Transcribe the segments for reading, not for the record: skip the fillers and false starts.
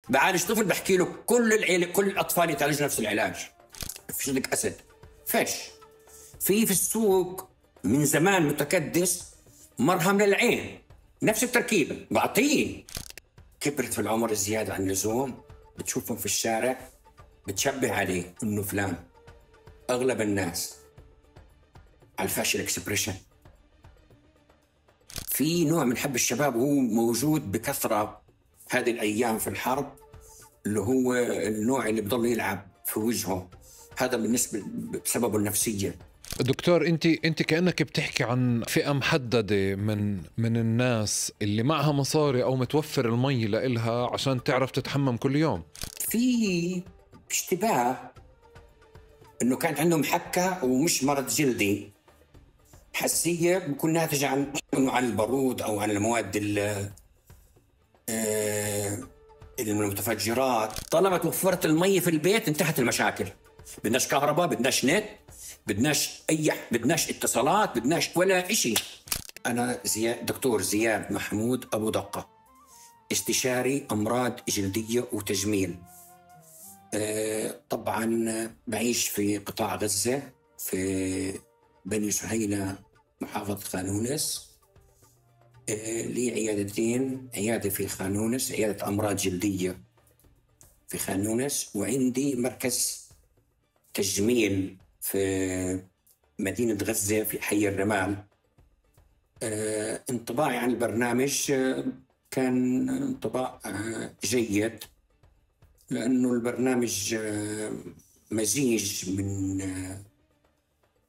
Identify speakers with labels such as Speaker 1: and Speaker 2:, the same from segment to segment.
Speaker 1: بعالج طفل بحكي له كل العيلة كل الأطفال يتعالجوا نفس العلاج، فيش لك أسد فيش. في السوق من زمان متكدس مرهم للعين نفس التركيبة بعطيه. كبرت في العمر زيادة عن اللزوم، بتشوفهم في الشارع بتشبه عليه إنه فلان. أغلب الناس على الفاشل اكسبريشن. في نوع من حب الشباب هو موجود بكثرة هذه الأيام في الحرب، اللي هو النوع اللي بضل يلعب في وجهه، هذا بالنسبة بسببه النفسية.
Speaker 2: دكتور انت كأنك بتحكي عن فئة محددة من الناس اللي معها مصاري او متوفر المي لإلها عشان تعرف تتحمم كل يوم.
Speaker 1: في اشتباه انه كانت عندهم حكة ومش مرض جلدي، حساسية بكون ناتجة عن البارود او عن المواد المتفجرات. طالما توفرت المي في البيت انتهت المشاكل. بدناش كهرباء، بدناش نت، بدناش اتصالات، بدناش ولا إشي. أنا دكتور زياد محمود أبو دقة، استشاري أمراض جلدية وتجميل. طبعا بعيش في قطاع غزة في بني سهيلة محافظة خانونس. لي عيادتين، عيادة في خانونس عيادة أمراض جلدية في خانونس، وعندي مركز تجميل في مدينة غزة في حي الرمال. انطباعي عن البرنامج كان انطباع جيد، لأنه البرنامج مزيج من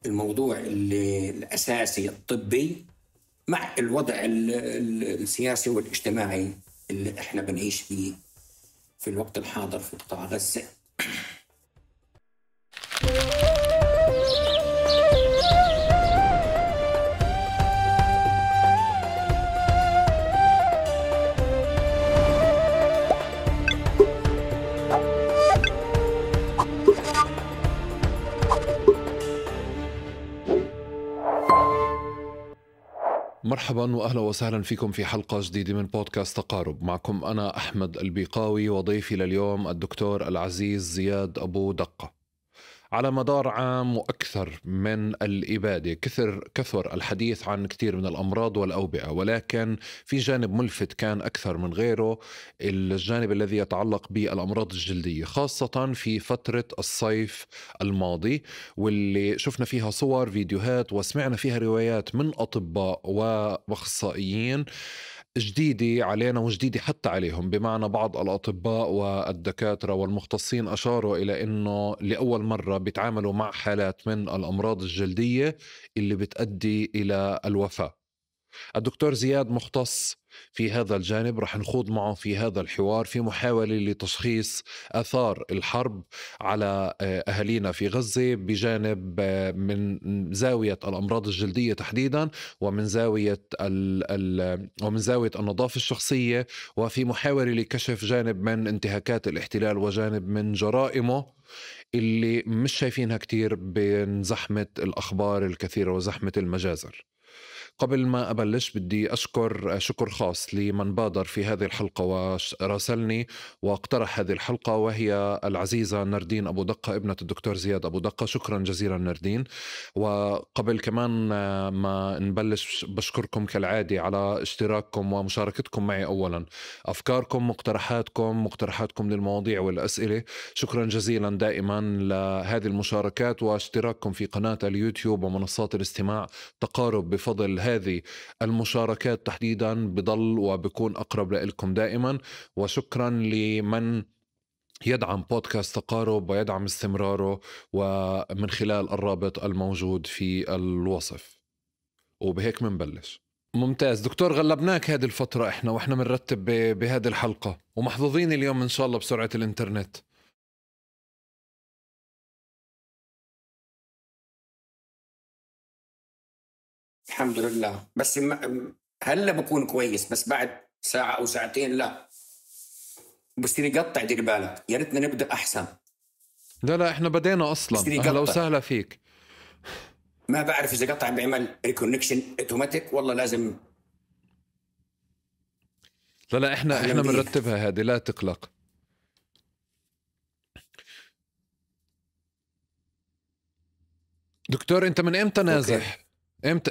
Speaker 1: الموضوع الأساسي الطبي مع الوضع السياسي والاجتماعي اللي احنا بنعيش فيه في الوقت الحاضر في قطاع غزة.
Speaker 2: مرحبا وأهلا وسهلا فيكم في حلقة جديدة من بودكاست تقارب. معكم أنا أحمد البيقاوي، وضيفي لليوم الدكتور العزيز زياد أبو دقة. على مدار عام وأكثر من الإبادة كثر الحديث عن كثير من الأمراض والأوبئة، ولكن في جانب ملفت كان أكثر من غيره، الجانب الذي يتعلق بالأمراض الجلدية، خاصة في فترة الصيف الماضي، واللي شفنا فيها صور فيديوهات وسمعنا فيها روايات من أطباء وأخصائيين جديدة علينا وجديدة حتى عليهم. بمعنى بعض الأطباء والدكاترة والمختصين أشاروا إلى أنه لأول مرة بيتعاملوا مع حالات من الأمراض الجلدية اللي بتؤدي إلى الوفاة. الدكتور زياد مختص في هذا الجانب، رح نخوض معه في هذا الحوار في محاولة لتشخيص آثار الحرب على أهالينا في غزة، بجانب من زاوية الأمراض الجلدية تحديدا، ومن زاوية النظافة الشخصية، وفي محاولة لكشف جانب من انتهاكات الاحتلال وجانب من جرائمه اللي مش شايفينها كتير بين زحمة الأخبار الكثيرة وزحمة المجازر. قبل ما أبلش بدي أشكر شكر خاص لمن بادر في هذه الحلقة وراسلني واقترح هذه الحلقة، وهي العزيزة نردين أبو دقة ابنة الدكتور زياد أبو دقة. شكرا جزيلا نردين. وقبل كمان ما نبلش بشكركم كالعادة على اشتراككم ومشاركتكم معي. أولا أفكاركم، مقترحاتكم للمواضيع والأسئلة، شكرا جزيلا دائما لهذه المشاركات، واشتراككم في قناة اليوتيوب ومنصات الاستماع تقارب. بفضل هذه المشاركات تحديدا بضل وبكون أقرب لكم دائما. وشكرا لمن يدعم بودكاست تقارب ويدعم استمراره، ومن خلال الرابط الموجود في الوصف. وبهيك منبلش. ممتاز دكتور، غلبناك هذه الفترة احنا واحنا منرتب بهذه الحلقة، ومحظوظين اليوم ان شاء الله بسرعة الانترنت.
Speaker 1: الحمد لله، بس هلا بكون كويس، بس بعد ساعة أو ساعتين لا بصير يقطع. دير بالك، يا ريتنا نبدأ أحسن.
Speaker 2: لا احنا بدينا أصلا. أهلا وسهلا فيك.
Speaker 1: ما بعرف إذا قطع بيعمل ريكونكشن اوتوماتيك والله لازم.
Speaker 2: لا احنا بنرتبها هذه، لا تقلق. دكتور انت من امتى
Speaker 1: أوكي.
Speaker 2: نازح؟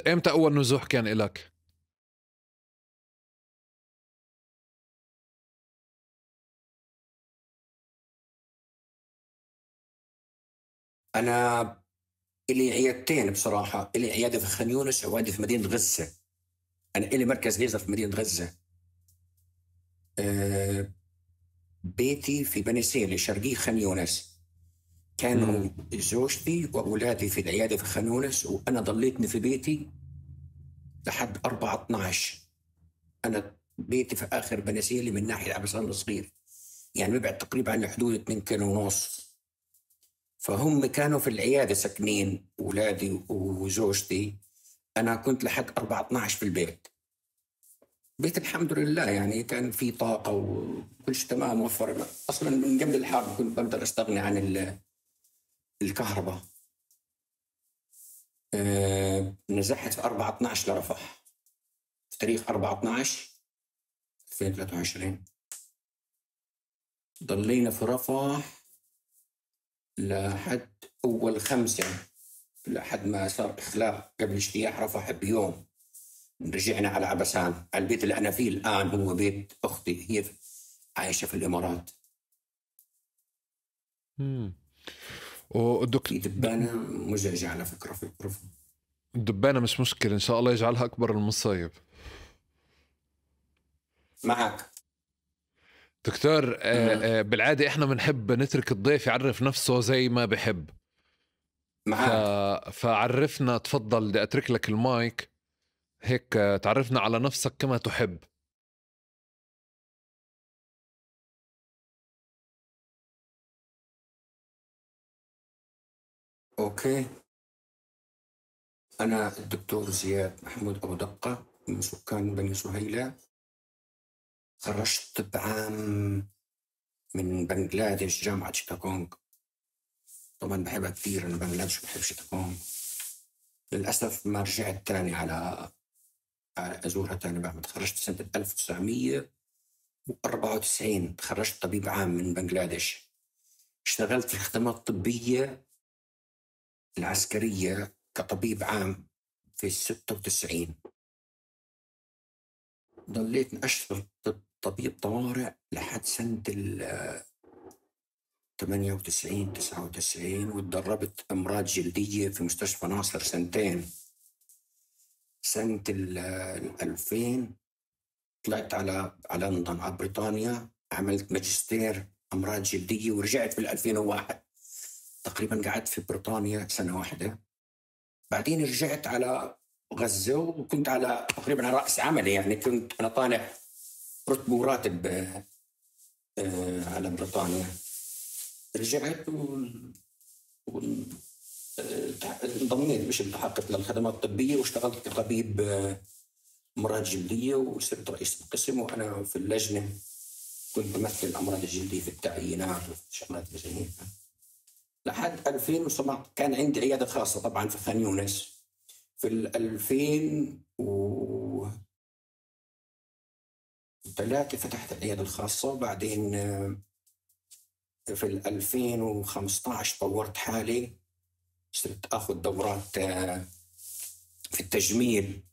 Speaker 2: امتى اول نزوح كان إلك؟
Speaker 1: أنا إلي عيادتين بصراحة، إلي عيادة في خان يونس وعيادة في مدينة غزة. أنا إلي مركز ليزر في مدينة غزة. بيتي في بني سيلي شرقي خان يونس. كانوا زوجتي وأولادي في العيادة في خان يونس، وأنا ضليتني في بيتي لحد 4/12. أنا بيتي في آخر بني سيلي من ناحية عبسان الصغير، يعني ببعد تقريبا عن حدود 2 كيلو ونص. فهم كانوا في العيادة ساكنين، أولادي وزوجتي. أنا كنت لحد 4/12 في البيت. بيت الحمد لله يعني كان في طاقة وكل شيء تمام موفر. أصلا من قبل الحرب كنت بقدر أستغني عن الكهرباء. نزحت في 4/12 لرفح، في تاريخ 4/12/2023. ضلينا في رفح لحد أول 5، لحد ما صار إخلاء قبل اجتياح رفح بيوم. رجعنا على عبسان، على البيت اللي أنا فيه الآن هو بيت أختي، هي عايشة في الإمارات. في دبانة مزعجة على فكرة في الغرفة.
Speaker 2: الدبانة مش مشكلة، إن شاء الله يجعلها أكبر المصايب.
Speaker 1: معك
Speaker 2: دكتور بالعادة إحنا بنحب نترك الضيف يعرف نفسه زي ما بحب.
Speaker 1: معك
Speaker 2: فعرفنا، تفضل، بدي أترك لك المايك هيك تعرفنا على نفسك كما تحب.
Speaker 1: أوكي. أنا الدكتور زياد محمود أبو دقة من سكان بني سهيلة. خرجت بعام من بنغلاديش، جامعة شيتاغونغ. طبعا بحبها كثير، أنا بنغلاديش بحب شيتاغونغ. للأسف ما رجعت تاني على أزورها تاني بعد ما تخرجت سنة 1994. تخرجت طبيب عام من بنغلاديش. اشتغلت في الخدمات الطبية العسكرية كطبيب عام في 96. ضليت أشتغل طبيب طوارئ لحد سنة 98 99، وتدربت أمراض جلدية في مستشفى ناصر 2 سنين. سنة 2000 طلعت على لندن، على بريطانيا، عملت ماجستير أمراض جلدية، ورجعت في 2001. تقريبا قعدت في بريطانيا 1 سنة. بعدين رجعت على غزة، وكنت على تقريبا على رأس عملي، يعني كنت أنا طالع رتب وراتب على بريطانيا. رجعت انضميت، مش التحقت للخدمات الطبية، واشتغلت كطبيب أمراض جلدية، وصرت رئيس القسم. وأنا في اللجنة كنت بمثل الأمراض الجلدية في التعيينات وشغلات زي هيك لحد 2007. كان عندي عيادة خاصة طبعا في خان يونس. في 2003 فتحت العيادة الخاصة. وبعدين في 2015 طورت حالي، صرت أخذ دورات في التجميل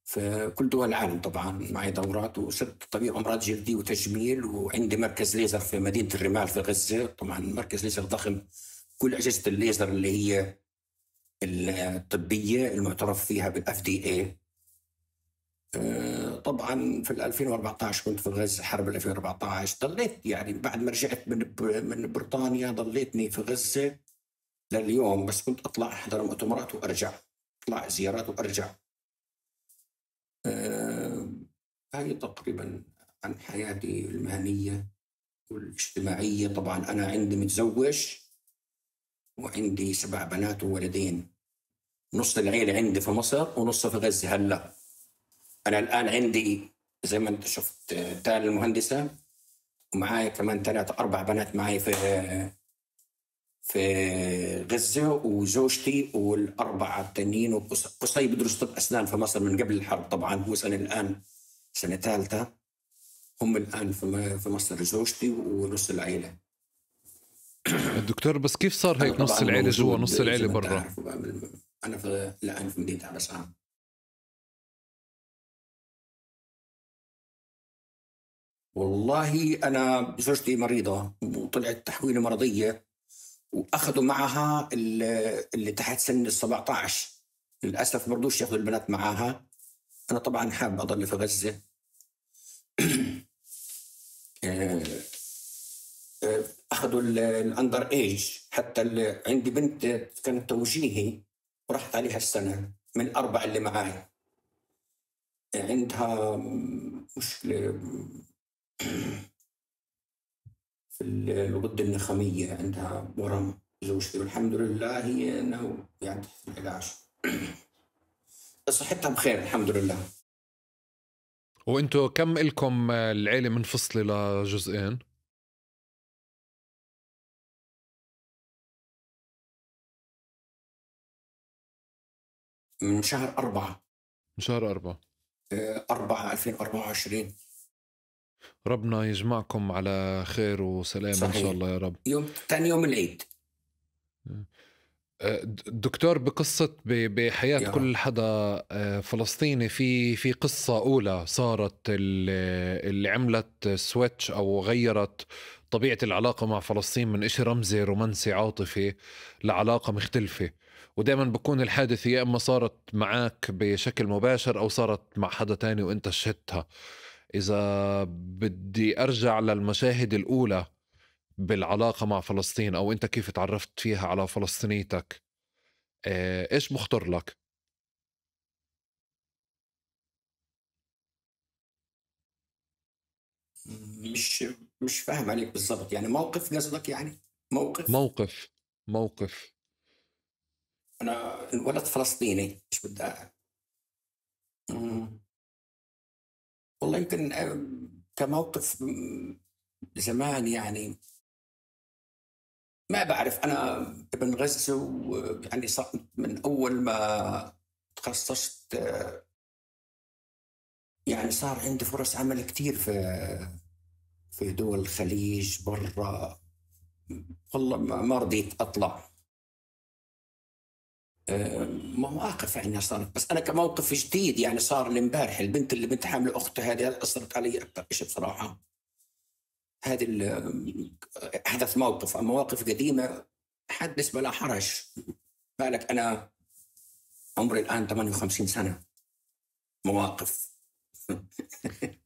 Speaker 1: في كل دول العالم. طبعا معي دورات، وصرت طبيب أمراض جلدية وتجميل. وعندي مركز ليزر في مدينة الرمال في غزة. طبعا مركز ليزر ضخم، كل أجهزة الليزر اللي هي الطبية المعترف فيها بالFDA. طبعا في 2014 كنت في غزة، حرب 2014. ضليت يعني بعد ما رجعت من بريطانيا ضليتني في غزة لليوم، بس كنت أطلع أحضر مؤتمرات وأرجع، أطلع زيارات وأرجع. هاي تقريبا عن حياتي المهنية والاجتماعية. طبعا أنا عندي متزوج وعندي 7 بنات وولدين. نص العيلة عندي في مصر ونص في غزة. هلا أنا الآن عندي زي ما أنت شفت تال المهندسة، ومعايا كمان 3 4 بنات معي في غزة، وزوجتي وال4 التانيين. وقصي بدرس طب أسنان في مصر من قبل الحرب. طبعا هو الآن سنة 3. هم الآن في مصر زوجتي ونص العيلة.
Speaker 2: الدكتور بس كيف صار
Speaker 1: أنا
Speaker 2: هيك نص
Speaker 1: طبعا
Speaker 2: العيلة جوا
Speaker 1: موجود
Speaker 2: نص
Speaker 1: زي
Speaker 2: العيلة
Speaker 1: ما أنت
Speaker 2: برا؟
Speaker 1: عارف. أنا في لا، أنا في مدينة عباسان. والله أنا زوجتي مريضة وطلعت تحويلة مرضية، وأخذوا معها اللي تحت سن ال 17. للأسف ما رضوش ياخذوا البنات معاها. أنا طبعا حابب أضل في غزة. آه، أخذوا الأندر إيج، حتى عندي بنت كانت توجيهي وراحت عليها السنة من الأربع اللي معاي. عندها مشكلة في الغدة النخامية، عندها ورم زوجتي، والحمد لله هي إنه يعني تحت العلاج. صحتها بخير الحمد لله.
Speaker 2: وانتو كم إلكم العيلة منفصلة لجزئين؟
Speaker 1: من شهر 4
Speaker 2: من شهر 4.
Speaker 1: 4 2024.
Speaker 2: ربنا يجمعكم على خير وسلام
Speaker 1: صحيح.
Speaker 2: إن شاء الله يا رب.
Speaker 1: ثاني يوم العيد.
Speaker 2: دكتور، بقصة بحياة كل حدا فلسطيني في قصة أولى صارت اللي عملت سويتش أو غيرت طبيعة العلاقة مع فلسطين من إشي رمزي رومانسي عاطفي لعلاقة مختلفة. ودائما بكون الحادثة يا إما صارت معك بشكل مباشر أو صارت مع حدا تاني وإنت شهدتها. إذا بدي أرجع للمشاهد الأولى بالعلاقة مع فلسطين أو أنت كيف تعرفت فيها على فلسطينيتك، إيش مخطر لك؟
Speaker 1: مش فاهم عليك بالضبط، يعني موقف قصدك؟ يعني
Speaker 2: موقف.
Speaker 1: أنا ولد فلسطيني، مش بدي والله يمكن كموقف زمان، يعني ما بعرف. أنا ابن غزة، ويعني صار من أول ما تخصصت يعني صار عندي فرص عمل كتير في دول الخليج برا. والله ما رضيت أطلع. مواقف يعني صارت، بس أنا كموقف جديد يعني صار لي امبارح. البنت اللي بنت حاملة أختها هذه أثرت علي أكثر شيء بصراحة. هذه حدث موقف. أما مواقف قديمة حدث بلا حرج. بالك أنا عمري الآن 58 سنة. مواقف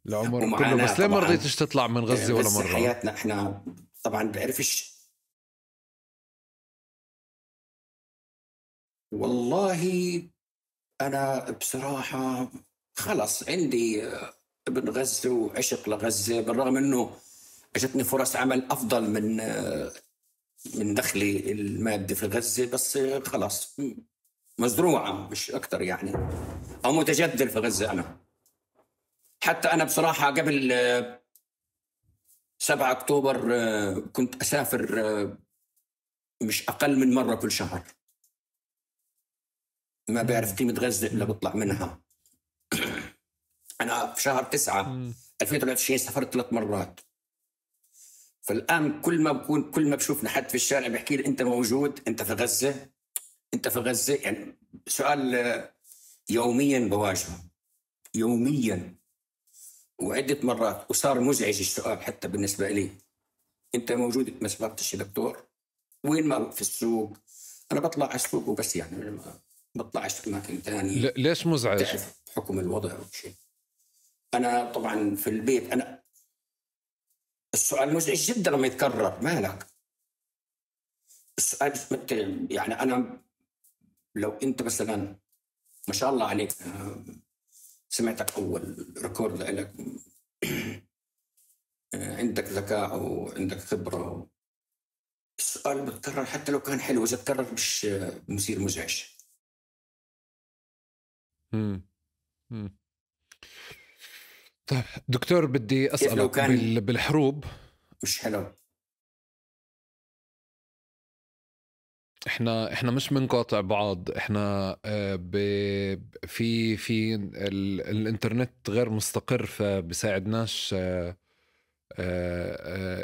Speaker 2: العمر كله.
Speaker 1: ومعاناة
Speaker 2: بس ليه ما
Speaker 1: طبعاً.
Speaker 2: رضيتش تطلع من غزة ولا
Speaker 1: غزة
Speaker 2: مرة؟
Speaker 1: حياتنا احنا طبعا بعرفش. والله انا بصراحة خلص عندي ابن غزة وعشق لغزة، بالرغم انه اجتني فرص عمل افضل من دخلي المادي في غزة، بس خلاص مزروعة مش اكثر يعني، او متجدل في غزة. انا حتى انا بصراحة قبل 7 أكتوبر كنت أسافر مش أقل من مرة كل شهر. ما بعرف قيمة غزة إلا بطلع منها. أنا في شهر 9 2023 سافرت 3 مرات. فالآن كل ما بشوفنا حد في الشارع بيحكي لي أنت موجود، أنت في غزة، أنت في غزة. يعني سؤال يوميا بواجهه، يوميا وعدة مرات، وصار مزعج السؤال حتى بالنسبة لي. أنت موجود؟ ما سافرتش يا دكتور؟ وين؟ ما في السوق. أنا بطلع على السوق وبس، يعني ما بطلعش في أماكن ثانية.
Speaker 2: ليش مزعج؟
Speaker 1: تعرف حكم الوضع أو شيء. أنا طبعا في البيت أنا السؤال مزعج جدا لما يتكرر. مالك؟ السؤال يعني أنا لو أنت مثلا ما شاء الله عليك، سمعتك أول ريكورد لك عندك ذكاء وعندك خبرة، السؤال بتكرر حتى لو كان حلو، إذا تكرر مش مثير مزعج.
Speaker 2: طيب دكتور، بدي أسألك بالحروب
Speaker 1: مش حلو.
Speaker 2: احنا مش بنقاطع بعض. احنا في الانترنت غير مستقر، فبساعدناش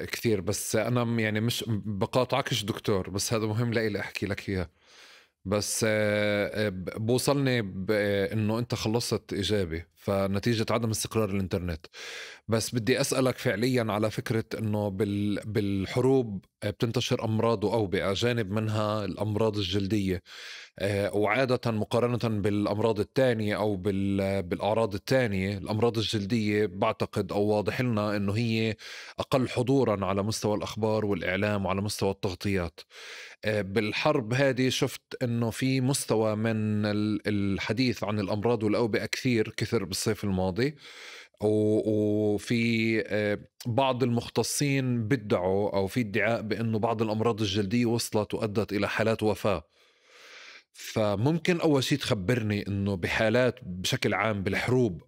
Speaker 2: كثير. بس أنا يعني مش بقاطعكش دكتور، بس هذا مهم لإلي أحكي لك إياه. بس بوصلني إنه أنت خلصت إيجابي فنتيجة عدم استقرار الإنترنت. بس بدي أسألك فعليا على فكرة إنه بالحروب بتنتشر أمراض وأوبئة، جانب منها الأمراض الجلدية، وعادة مقارنة بالأمراض التانية أو بالأعراض التانية، الأمراض الجلدية بعتقد أو واضح لنا أنه هي أقل حضورا على مستوى الأخبار والإعلام وعلى مستوى التغطيات. بالحرب هذه شفت أنه في مستوى من الحديث عن الأمراض والأوبئة كثر بالصيف الماضي، وفي بعض المختصين بدعوا أو في ادعاء بأنه بعض الأمراض الجلدية وصلت وأدت إلى حالات وفاة. فممكن أول شيء تخبرني أنه بحالات بشكل عام بالحروب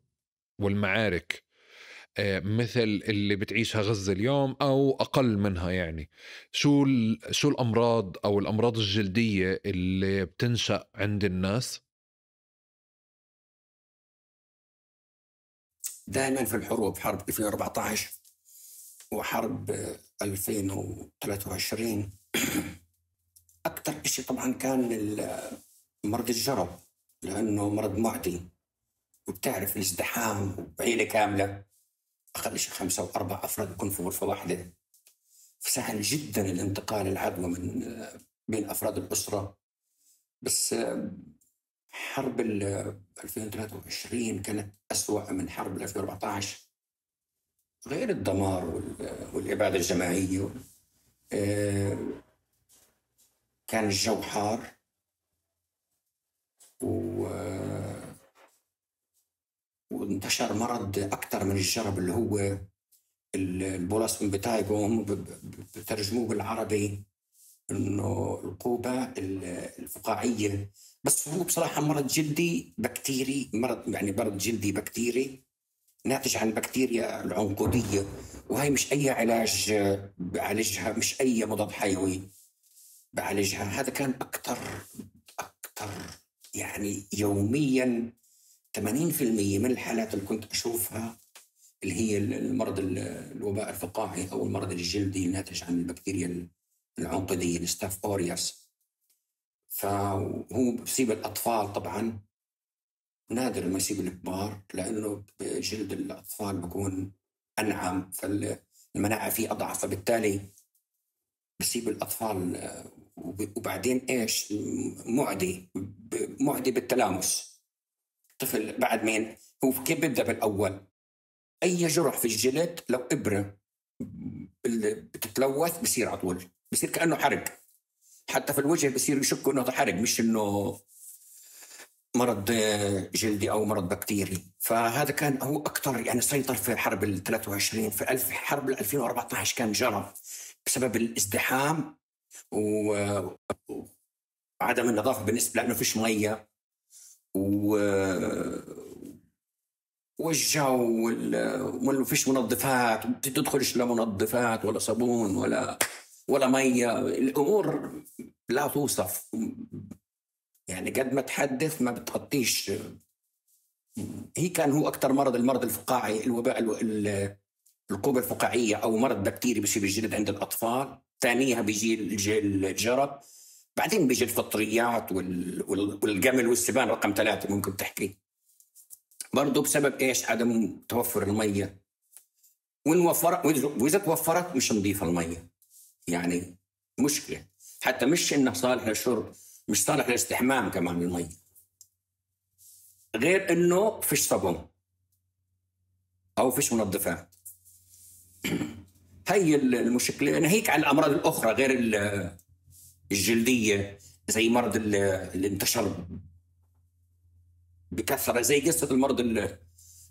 Speaker 2: والمعارك مثل اللي بتعيشها غزة اليوم أو أقل منها، يعني شو الأمراض أو الأمراض الجلدية اللي بتنشأ عند الناس؟
Speaker 1: دائما في الحروب، حرب 2014 وحرب 2023 أكثر إشي طبعا كان مرض الجرب، لأنه مرض معدي وبتعرف الازدحام وعيلة كاملة أقل شيء 5 أو 4 أفراد بيكون في غرفة واحدة، فسهل جدا الانتقال العدوى من بين أفراد الأسرة. بس حرب 2023 كانت أسوأ من حرب 2014، غير الدمار والإبادة الجماعية. كان الجو حار وانتشر مرض أكثر من الجرب اللي هو البولاس امبيتايجو، هم بترجموه بالعربي إنه القوبة الفقاعية، بس هو بصراحة مرض جلدي بكتيري، مرض جلدي بكتيري ناتج عن بكتيريا العنقودية، وهي مش أي علاج بعالجها، مش أي مضاد حيوي بعالجها. هذا كان أكتر يعني يوميا 80% من الحالات اللي كنت أشوفها اللي هي المرض الوباء الفقاعي أو المرض الجلدي الناتج عن البكتيريا العنقودية الستاف أوريوس. فهو بصيب الأطفال طبعا، نادر ما يصيب الكبار لأنه جلد الأطفال بيكون أنعم فالمناعة فيه أضعف، فبالتالي بصيب الأطفال. وبعدين إيش معدي بالتلامس. طفل بعد مين هو كيف بدأ بالأول؟ أي جرح في الجلد لو إبرة بتتلوث بصير على طول، بصير كأنه حرق، حتى في الوجه بصير يشكوا إنه حرق مش إنه مرض جلدي أو مرض بكتيري. فهذا كان هو أكتر يعني سيطر في حرب 23. في حرب 2014 كان جرى بسبب الازدحام وعدم النظافة بالنسبة لأنه فيش مية والجو ولا فيش منظفات، بتدخلش لا منظفات ولا صابون ولا مية. الأمور لا توصف، يعني قد ما تحدث ما بتغطيش. هي كان هو أكتر مرض المرض الفقاعي، الوباء القوبة الفقاعية أو مرض بكتيري بيصير بالجلد عند الأطفال، ثانيها بيجي الجرب، بعدين بيجي الفطريات والجمل والسبان رقم 3 ممكن تحكي برضو بسبب إيش؟ عدم توفر المية، وإذا توفرت مش نظيفة المية، يعني مشكلة. حتى مش إنه صالح للشرب، مش صالح للاستحمام كمان المية، غير إنه فيش صابون أو فيش منظفات. هي المشكلة. أنا هيك على الأمراض الأخرى غير الجلدية، زي مرض اللي انتشر بكثرة زي قصة المرض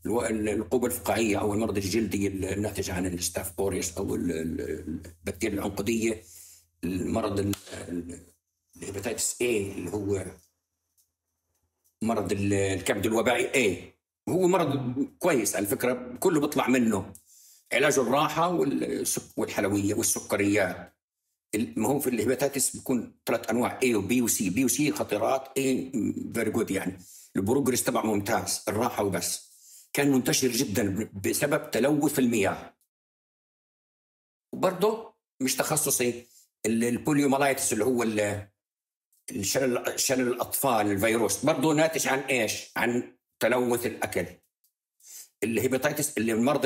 Speaker 1: القوبة الفقاعية أو المرض الجلدي الناتج عن الستاف أوريوس أو البكتيريا العنقودية، المرض الهيباتيتس A اللي هو مرض الكبد الوبائي A. هو مرض كويس على فكرة، كله بيطلع منه علاجه الراحة والحلوية والسكريات. ما هو في الهيباتيتس بيكون 3 أنواع A و B و C. B و C خطيرات، A very good، يعني البروجرس تبع ممتاز، الراحة وبس. كان منتشر جدا بسبب تلوث المياه، وبرضه مش تخصصي البوليومالايتس اللي هو شلل الأطفال الفيروس، برضه ناتج عن إيش؟ عن تلوث الأكل. الهيباتيتس اللي المرض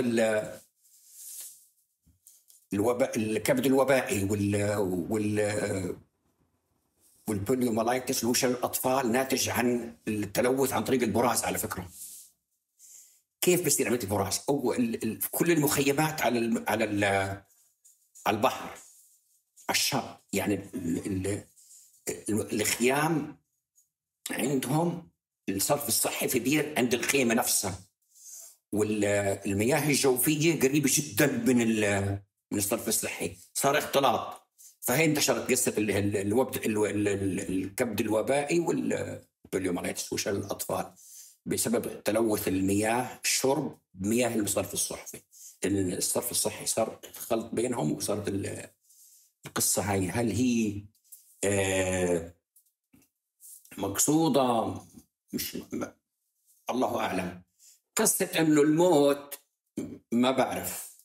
Speaker 1: الكبد الوبائي والبوليومالايتس اللي هو شلل الأطفال ناتج عن التلوث عن طريق البراز. على فكرة كيف بصير عملية البراز؟ أو كل المخيمات على البحر، على الشط، يعني الخيام عندهم الصرف الصحي في بير عند الخيمة نفسها، والمياه الجوفية قريبة جدا من الصرف الصحي، صار اختلاط. فهي انتشرت قصة الكبد الوبائي والبوليومالايتس وشلل الأطفال بسبب تلوث المياه، الشرب بمياه الصرف الصحي. الصرف الصحي صار خلط بينهم، وصارت القصة هاي. هل هي مقصودة؟ مش الله أعلم. قصة إنه الموت ما بعرف،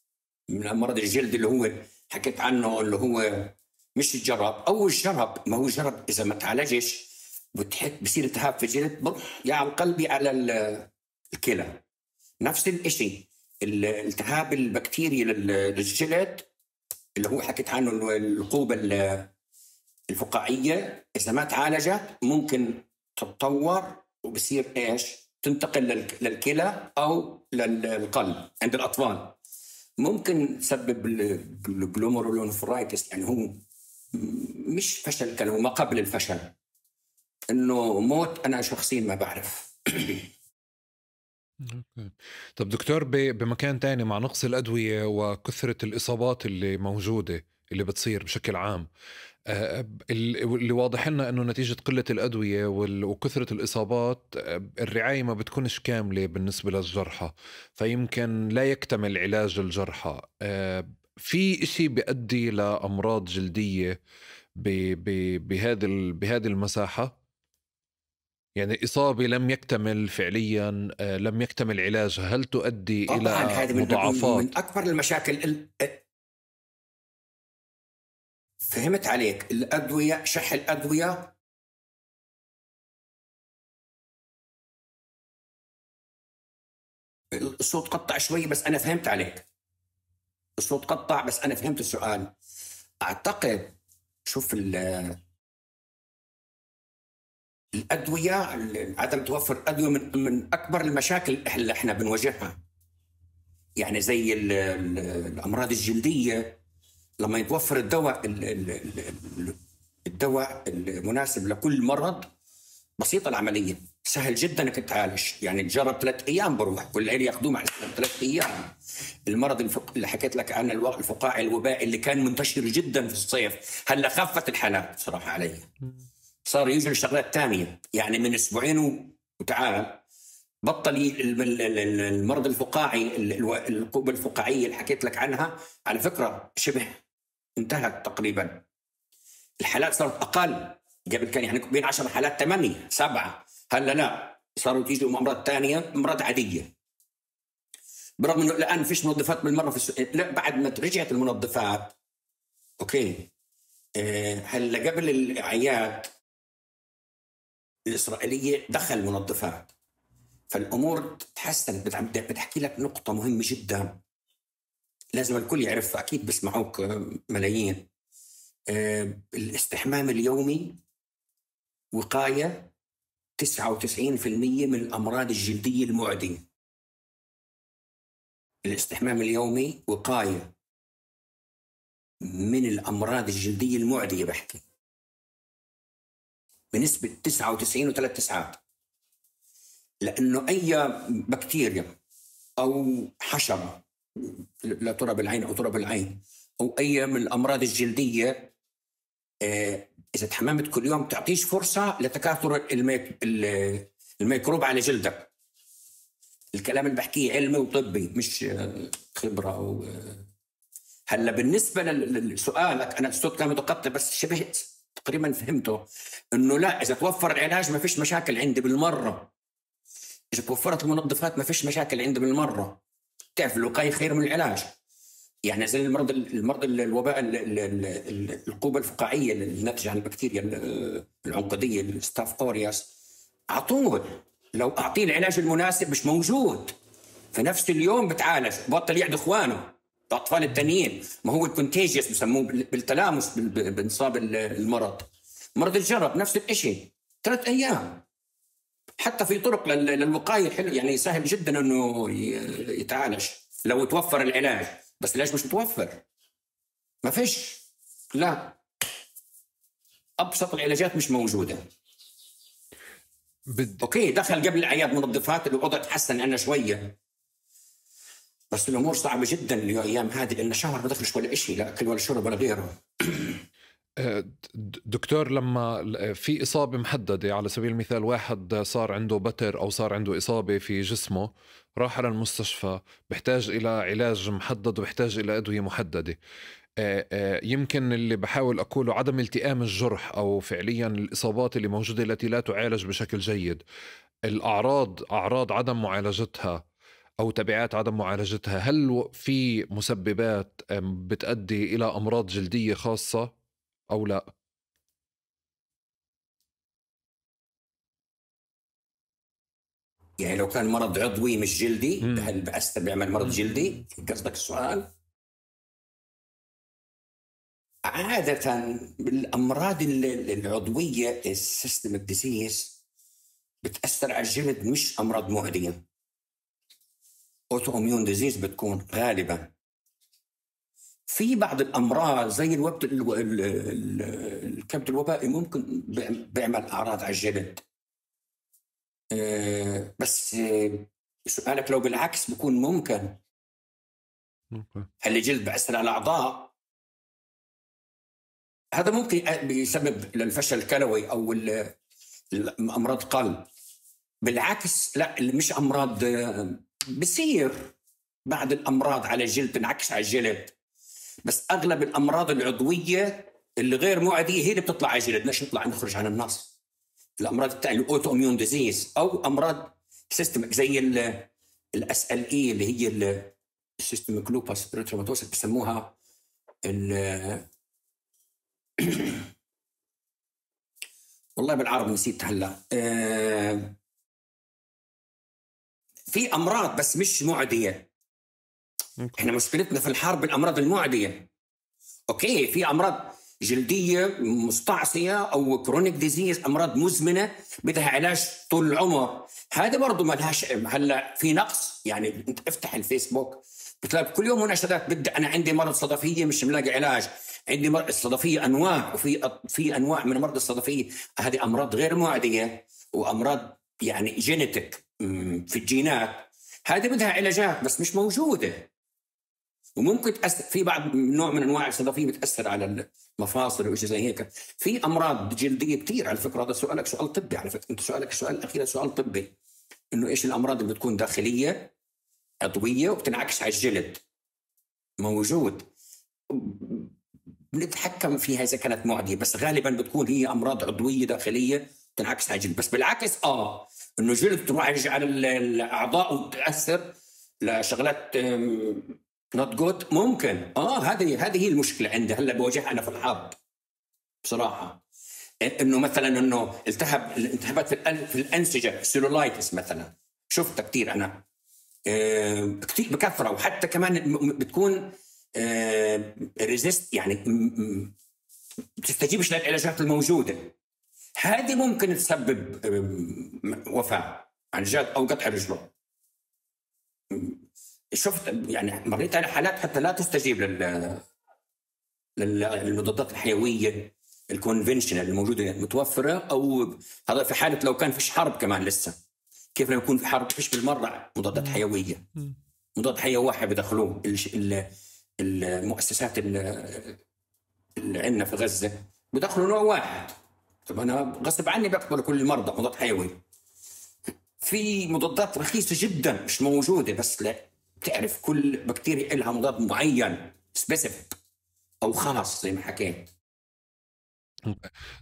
Speaker 1: من أمراض الجلد اللي هو حكيت عنه، اللي هو مش الجرب أو الجرب. ما هو الجرب إذا ما تعالجش بصير التهاب في الجلد، بروح يا على القلب على الكلى. نفس الإشي الالتهاب البكتيري للجلد اللي هو حكيت عنه، العقوبة الفقاعية، إذا ما تعالجت ممكن تتطور وبصير إيش؟ تنتقل للكلى أو للقلب. عند الأطفال ممكن تسبب الجلوميرولونيفرايتس، يعني هو مش فشل كلى، هو ما قبل الفشل. إنه موت أنا شخصيا ما بعرف.
Speaker 2: طب دكتور، بمكان تاني، مع نقص الأدوية وكثرة الإصابات اللي موجودة اللي بتصير بشكل عام، اللي واضح لنا أنه نتيجة قلة الأدوية وكثرة الإصابات الرعاية ما بتكونش كاملة بالنسبة للجرحى، فيمكن لا يكتمل علاج الجرحى. في إشي بيؤدي لأمراض جلدية بهذه المساحة، يعني إصابة لم يكتمل فعليا، لم يكتمل علاجها، هل تؤدي إلى مضاعفات؟
Speaker 1: من أكبر المشاكل. فهمت عليك. الأدوية، شح الأدوية، الصوت قطع شوي بس أنا فهمت عليك. الصوت قطع بس أنا فهمت السؤال. أعتقد شوف الأدوية، عدم توفر الأدوية من أكبر المشاكل اللي إحنا بنواجهها. يعني زي الأمراض الجلدية، لما يتوفر الدواء المناسب لكل مرض، بسيطة العملية، سهل جدا انك تعالج. يعني تجرب 3 أيام بروح، كل عيل ياخذوه مع 3 أيام. المرض اللي حكيت لك عنه، الفقاعي الوبائي اللي كان منتشر جدا في الصيف، هلا خفت الحالات صراحة علي. صار يجوا الشغلات تانية، يعني من أسبوعين وتعال بطل المرض الفقاعي، العقوبة الفقاعية اللي حكيت لك عنها. على فكرة شبه انتهت تقريبا، الحالات صارت أقل. قبل كان يعني بين 10 حالات 8 7، هلا لا، صاروا تيجوا أمراض تانية، أمراض عادية. برغم إنه الآن فيش منظفات بالمرة لا، بعد ما رجعت المنظفات أوكي. هلا قبل الأعياد الإسرائيلية دخل منظفات، فالأمور تحسنت. بتحكي لك نقطة مهمة جدا لازم الكل يعرفها، أكيد بسمعوك ملايين. الاستحمام اليومي وقاية 99% من الأمراض الجلدية المعدية. الاستحمام اليومي وقاية من الأمراض الجلدية المعدية، بحكي بنسبة 99.3، لأنه أي بكتيريا أو حشرة، لا ترى بالعين أو ترى بالعين، أو أي من الأمراض الجلدية، إذا تحممت كل يوم تعطيش فرصة لتكاثر الميكروب على جلدك. الكلام اللي بحكيه علمي وطبي، مش خبرة أو هلا بالنسبة لسؤالك، أنا الصوت كان متقطع بس شبه تقريبا فهمته. إنه لا، إذا توفر العلاج ما فيش مشاكل عندي بالمرة. إذا توفرت المنظفات ما فيش مشاكل عندي بالمرة. تعرف الوقاية خير من العلاج. يعني زي المرض الوباء القوبة الفقاعية الناتجة عن البكتيريا العنقودية الستاف أورياس، على طول لو أعطيه العلاج المناسب مش موجود في نفس اليوم بتعالج، بطل يعد إخوانه الأطفال التانيين. ما هو الكونتيجيوس بسموه بالتلامس بانصاب المرض. مرض الجرب نفس الإشي 3 أيام. حتى في طرق للوقاية حلو، يعني سهل جدا إنه يتعالج لو توفر العلاج، بس العلاج مش متوفر، ما فيش، لا، أبسط العلاجات مش موجودة. أوكي دخل قبل الأعياد منظفات، الوضع تحسن عنا شوية، بس الأمور صعبة جدا الأيام هذه، لأن شهر ما دخلش ولا إشي، لا أكل ولا شرب ولا غيره.
Speaker 2: دكتور، لما في إصابة محددة، على سبيل المثال واحد صار عنده بتر أو صار عنده إصابة في جسمه، راح على المستشفى، بيحتاج إلى علاج محدد وبيحتاج إلى أدوية محددة. يمكن اللي بحاول أقوله عدم التئام الجرح أو فعليا الإصابات اللي موجودة التي لا تعالج بشكل جيد، أعراض عدم معالجتها أو تبعات عدم معالجتها، هل في مسببات بتؤدي إلى أمراض جلدية خاصة أو لا؟
Speaker 1: يعني لو كان مرض عضوي مش جلدي، هل بيعمل مرض جلدي؟ قصدك السؤال؟ عادة بالأمراض العضوية السيستميك ديزيز بتأثر على الجلد، مش أمراض معدية. أوتو إميون ديزيز بتكون غالبا. في بعض الأمراض زي الكبد الوبائي ممكن بيعمل أعراض على الجلد، بس سؤالك لو بالعكس بيكون ممكن. هل الجلد بيأثر على الأعضاء؟ هذا ممكن بيسبب للفشل الكلوي أو أمراض قلب. بالعكس لا، اللي مش أمراض بصير بعض الأمراض على الجلد تنعكس على الجلد، بس أغلب الأمراض العضوية اللي غير معدية هي اللي بتطلع على الجلد. ليش نخرج عن النص؟ الأمراض التالية الأوتو إميون ديزيز أو أمراض سيستمك زي SLE اللي هي السيستمك لوباس ريتروماتوسس بسموها والله بالعربي نسيت هلا. في أمراض بس مش معدية. احنا مشكلتنا في الحرب بالأمراض المعدية. اوكي في أمراض جلدية مستعصية أو كرونيك ديزيز، أمراض مزمنة بدها علاج طول العمر، هذا برضو ما لهاش. هلا في نقص، يعني انت افتح الفيسبوك بتلاقي كل يوم مناشدات، بدي أنا عندي مرض صدفية مش ملاقي علاج، عندي مرض الصدفية أنواع، وفي أنواع من مرض الصدفية، هذه أمراض غير معدية وأمراض يعني جينيتك في الجينات، هذه بدها علاجات بس مش موجودة. وممكن تأثر في بعض نوع من أنواع الصدفية بتأثر على المفاصل وإشي زي هيك. في أمراض جلدية كتير على فكرة. هذا سؤالك سؤال طبي على فكرة، أنت سؤالك السؤال الأخير سؤال طبي، إنه إيش الأمراض اللي بتكون داخلية عضوية وبتنعكس على الجلد. موجود، بنتحكم فيها إذا كانت معدية، بس غالبا بتكون هي أمراض عضوية داخلية تنعكس على الجلد. بس بالعكس إنه الجلد تروح على الأعضاء وتأثر لشغلات not good ممكن. هذه هي المشكلة عندي هلا بواجهها أنا في الحرب بصراحة. إنه مثلا إنه التهابات في الأنسجة، سيلولايتس مثلا، شفتها كتير أنا كتير بكثرة، وحتى كمان بتكون ريزيست، يعني بتستجيبش للعلاجات الموجودة. هذه ممكن تسبب وفاة عن جد أو قطع رجله. شفت يعني مريت على حالات حتى لا تستجيب للمضادات الحيوية الكونفنشنال الموجودة متوفرة، أو هذا في حالة لو كان فيش حرب كمان لسه. كيف لو يكون في حرب فيش بالمرة مضادات حيوية، مضاد حيوي واحد بدخلوه المؤسسات اللي عندنا في غزة بدخلوا نوع واحد. طب أنا غصب عني بقبل كل المرضى مضاد حيوي. في مضادات رخيصة جدا مش موجودة، بس لا تعرف كل بكتيريا لها مضاد معين سبيسيفيك أو خاص زي ما حكيت.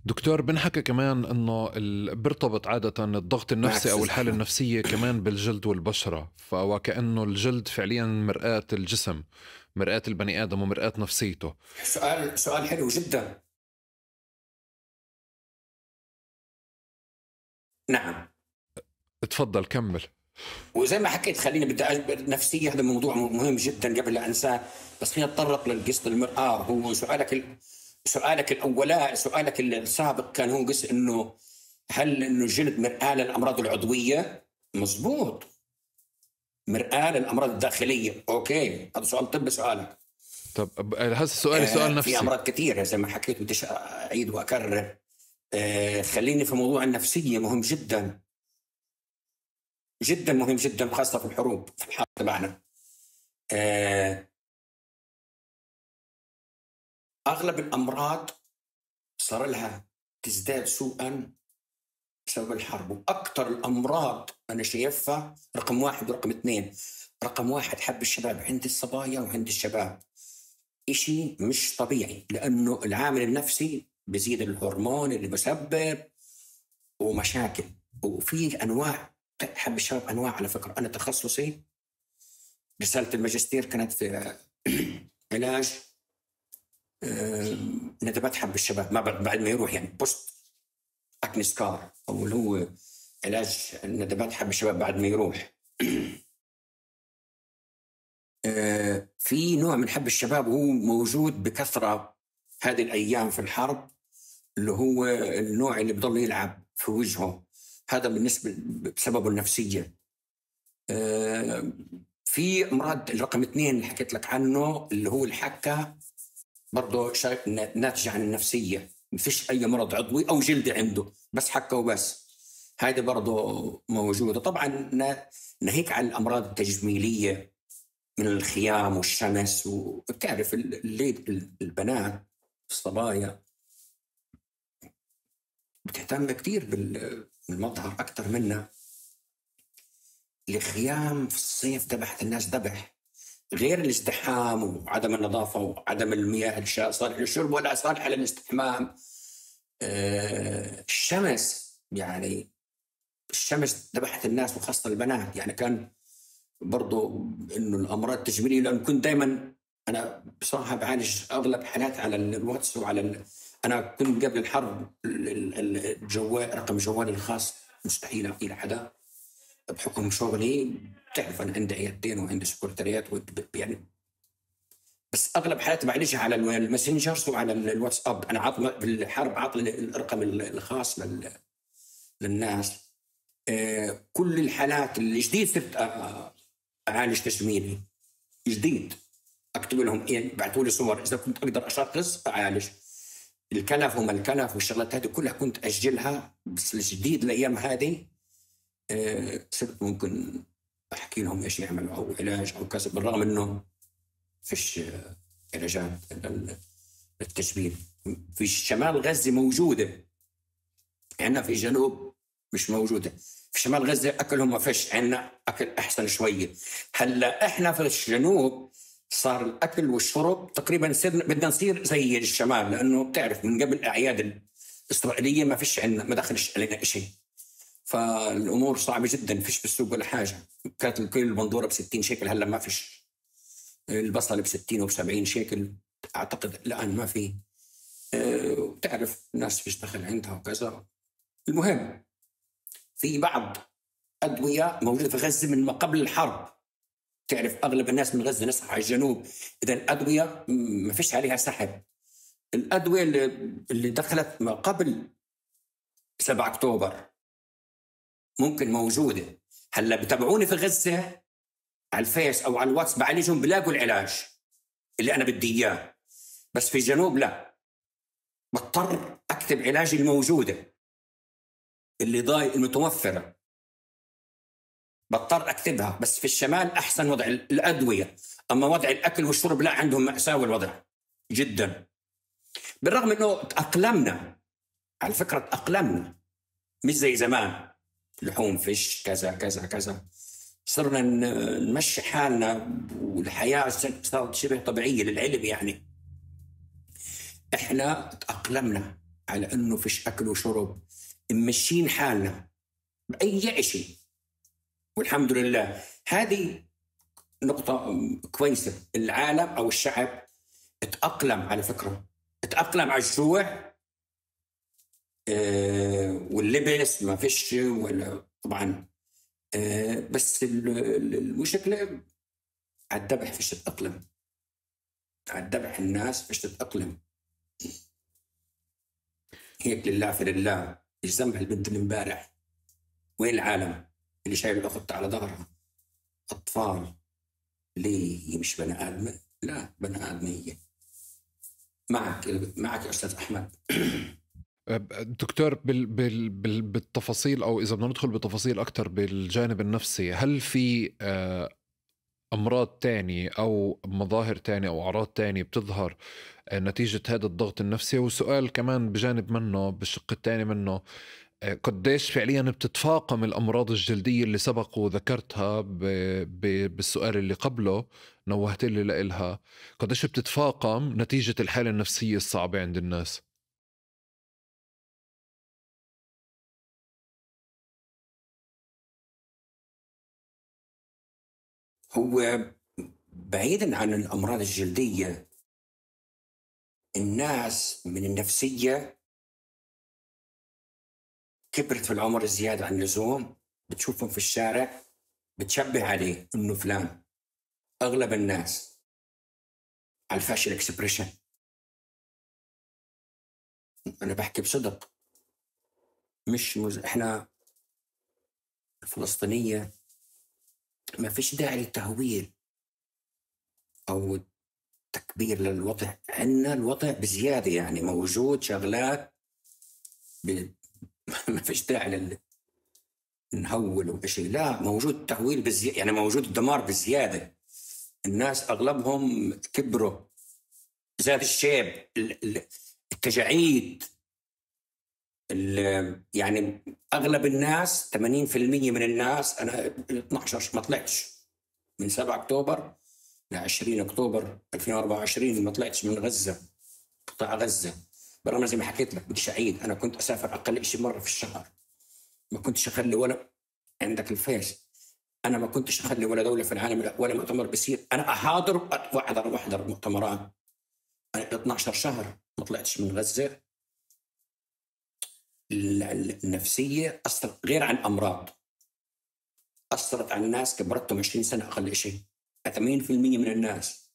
Speaker 2: دكتور، بنحكى كمان انه بيرتبط عادة الضغط النفسي او الحالة النفسية كمان بالجلد والبشرة، وكأنه الجلد فعليا مرآة الجسم، مرآة البني آدم ومرآة نفسيته.
Speaker 1: سؤال حلو جدا. نعم
Speaker 2: اتفضل كمل.
Speaker 1: وزي ما حكيت خليني بدي نفسية، هذا موضوع مهم جدا قبل لا أنساه، بس خلينا نتطرق للقصة المرآة. هو سؤالك الأولى، سؤالك السابق كان هو قصة إنه هل إنه الجلد مرآة للأمراض العضوية؟ مزبوط، مرآة للأمراض الداخلية. أوكي، هذا سؤال طبي سؤالك.
Speaker 2: طب هذا السؤال سؤال نفسي.
Speaker 1: في أمراض كثيرة زي ما حكيت، بديش أعيد وأكرر. خليني في موضوع النفسية، مهم جدا جدا، مهم جدا، خاصة في الحروب، في الحرب تبعنا. أغلب الأمراض صار لها تزداد سوءا بسبب الحرب، وأكثر الأمراض أنا شايفها رقم 1 ورقم 2. رقم 1 حب الشباب عند الصبايا وعند الشباب، إشي مش طبيعي، لأنه العامل النفسي بزيد الهرمون اللي بسبب ومشاكل. وفي أنواع حب الشباب، أنواع على فكرة. أنا تخصصي رسالة الماجستير كانت في علاج ندبات حب الشباب ما بعد ما يروح، يعني بوست أكني سكار، أو اللي هو علاج ندبات حب الشباب بعد ما يروح. في نوع من حب الشباب هو موجود بكثرة هذه الأيام في الحرب، اللي هو النوع اللي بضل يلعب في وجهه، هذا بالنسبة بسببه النفسية. في أمراض الرقم 2 اللي حكيت لك عنه، اللي هو الحكة، برضه ناتج عن النفسية. مفيش أي مرض عضوي أو جلدي عنده، بس حكة وبس، هذه برضه موجودة. طبعا ناهيك عن الأمراض التجميلية من الخيام والشمس، وبتعرف البنات الصبايا بتهتم كتير بالمظهر أكتر منا. الخيام في الصيف دبحت الناس دبح، غير الازدحام وعدم النظافة وعدم المياه صالحة للشرب ولا صالحة للاستحمام. الشمس، يعني الشمس دبحت الناس وخاصة البنات. يعني كان برضو إنه الأمراض التجميلية، لأن كنت دايما أنا بصراحة بعالج أغلب حالات على الواتس وعلى أنا كنت قبل الحرب الجوال، رقم جوالي الخاص مستحيل أعطيه لحدا بحكم شغلي. تعرف أنا عندي عيادتين وعندي سكرتاريات، يعني بس أغلب حالاتي بعالجها على الماسنجرز وعلى الواتساب. أنا عطل بالحرب، عطل الرقم الخاص للناس. كل الحالات الجديد صرت أعالج تجميلي جديد، أكتب لهم بعثوا لي صور إذا كنت أقدر أشخص أعالج. الكلف وما الكلف والشغلات هذه كلها كنت أسجلها، بس الجديد الأيام هذه صرت ممكن أحكي لهم إيش يعملوا أو علاج أو كذا، بالرغم إنه فيش علاجات للتجميل. في شمال غزة موجودة، عندنا في الجنوب مش موجودة. في شمال غزة أكلهم ما فيش، عندنا أكل أحسن شوية. هلا إحنا في الجنوب صار الأكل والشرب تقريبا بدنا نصير زي الشمال، لأنه بتعرف من قبل الأعياد الإسرائيلية ما فيش عندنا، ما دخلش علينا إشي، فالأمور صعبة جدا. فيش بالسوق ولا حاجة. كانت الكيلو البندورة ب60 شيكل، هلا ما فيش. البصل ب60 وب70 شيكل أعتقد الآن ما في. تعرف الناس فيش دخل عندها وكذا. المهم في بعض أدوية موجودة في غزة من ما قبل الحرب. تعرف أغلب الناس من غزة نسحب على الجنوب، إذا الأدوية ما فيش عليها سحب. الأدوية اللي دخلت ما قبل 7 أكتوبر ممكن موجودة. هلا بتابعوني في غزة على الفيس أو على الواتس، بعالجهم بلاقوا العلاج اللي أنا بدي إياه. بس في الجنوب لا، بضطر أكتب علاجي الموجودة اللي ضايق المتوفرة، بضطر أكتبها. بس في الشمال أحسن وضع الأدوية، أما وضع الأكل والشرب لا، عندهم مأساة الوضع جدا. بالرغم أنه تأقلمنا، على فكرة تأقلمنا، مش زي زمان لحوم فيش كذا كذا كذا، صرنا نمشي حالنا والحياة صارت شبه طبيعية للعلم. يعني إحنا تأقلمنا على أنه فيش أكل وشرب، ممشين حالنا بأي شيء، والحمد لله. هذه نقطة كويسة. العالم أو الشعب اتأقلم، على فكرة اتأقلم على الجوع واللبس ما فيش ولا طبعا. بس المشكلة على الذبح فيش تتأقلم، على الذبح الناس فيش تتأقلم. هيك لله في لله. ايش ذنبها البنت اللي امبارح؟ وين العالم اللي شايل الأخت على ظهرها؟ أطفال. ليه هي مش بني آدم؟ لا بني آدم هي. معك يا أستاذ أحمد.
Speaker 2: دكتور، بالتفاصيل، أو إذا بدنا ندخل بتفاصيل أكتر بالجانب النفسي، هل في أمراض تانية أو مظاهر تانية أو أعراض تانية بتظهر نتيجة هذا الضغط النفسي؟ وسؤال كمان بجانب منه، بالشق الثاني منه، قديش فعليا بتتفاقم الأمراض الجلدية اللي سبق وذكرتها بالسؤال اللي قبله، نوهت لي لإلها، قديش بتتفاقم نتيجة الحالة النفسية الصعبة عند الناس؟
Speaker 1: هو بعيدا عن الأمراض الجلدية، الناس من النفسية كبرت في العمر زيادة عن اللزوم، بتشوفهم في الشارع بتشبه عليه إنه فلان. أغلب الناس على الفاشل اكسبريشن. أنا بحكي بصدق، مش إحنا الفلسطينية ما فيش داعي للتهويل أو تكبير للوضع. عندنا الوضع بزيادة، يعني موجود شغلات ما فيش داعي نهول وشيء، لا موجود تهويل بزيادة، يعني موجود الدمار بزيادة. الناس أغلبهم كبروا، زاد الشيب، التجاعيد، يعني أغلب الناس 80% من الناس. أنا 12 ما طلعتش من 7 أكتوبر ل 20 أكتوبر 2024 ما طلعتش من غزة، قطاع غزة. برغم زي ما حكيت لك بديش أعيد، أنا كنت أسافر أقل شيء مرة في الشهر، ما كنتش أخلي ولا عندك الفيس، أنا ما كنتش أخلي ولا دولة في العالم ولا مؤتمر بيصير أنا أحاضر وأحضر مؤتمرات. أنا 12 شهر ما طلعتش من غزة. النفسية أثرت، غير عن أمراض، أثرت على الناس كبرتهم 20 سنة أقل شيء، 80% من الناس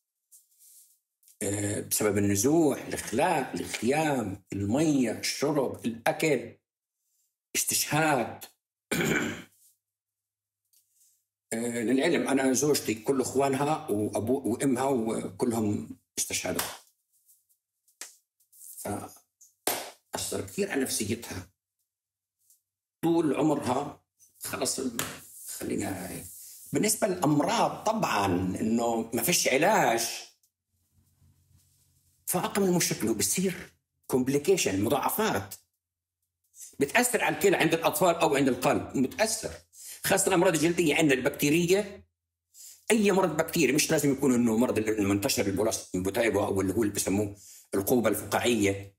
Speaker 1: بسبب النزوح، الإخلاء، الخيام، المية، الشرب، الأكل، استشهاد. للعلم أنا زوجتي كل أخوانها وأبو وأمها وكلهم استشهدوا، فأثر كثير على نفسيتها طول عمرها. خلص خلينا. بالنسبة للأمراض طبعا إنه ما فيش علاج، فأقل المشكلة بصير كومبليكيشن، مضاعفات بتأثر على الكلى عند الأطفال أو عند القلب، متأثر. خاصة الأمراض الجلدية عندنا البكتيرية، أي مرض بكتيري، مش لازم يكون إنه مرض المنتشر البوتايبو أو اللي هو اللي بسموه القوبة الفقاعية،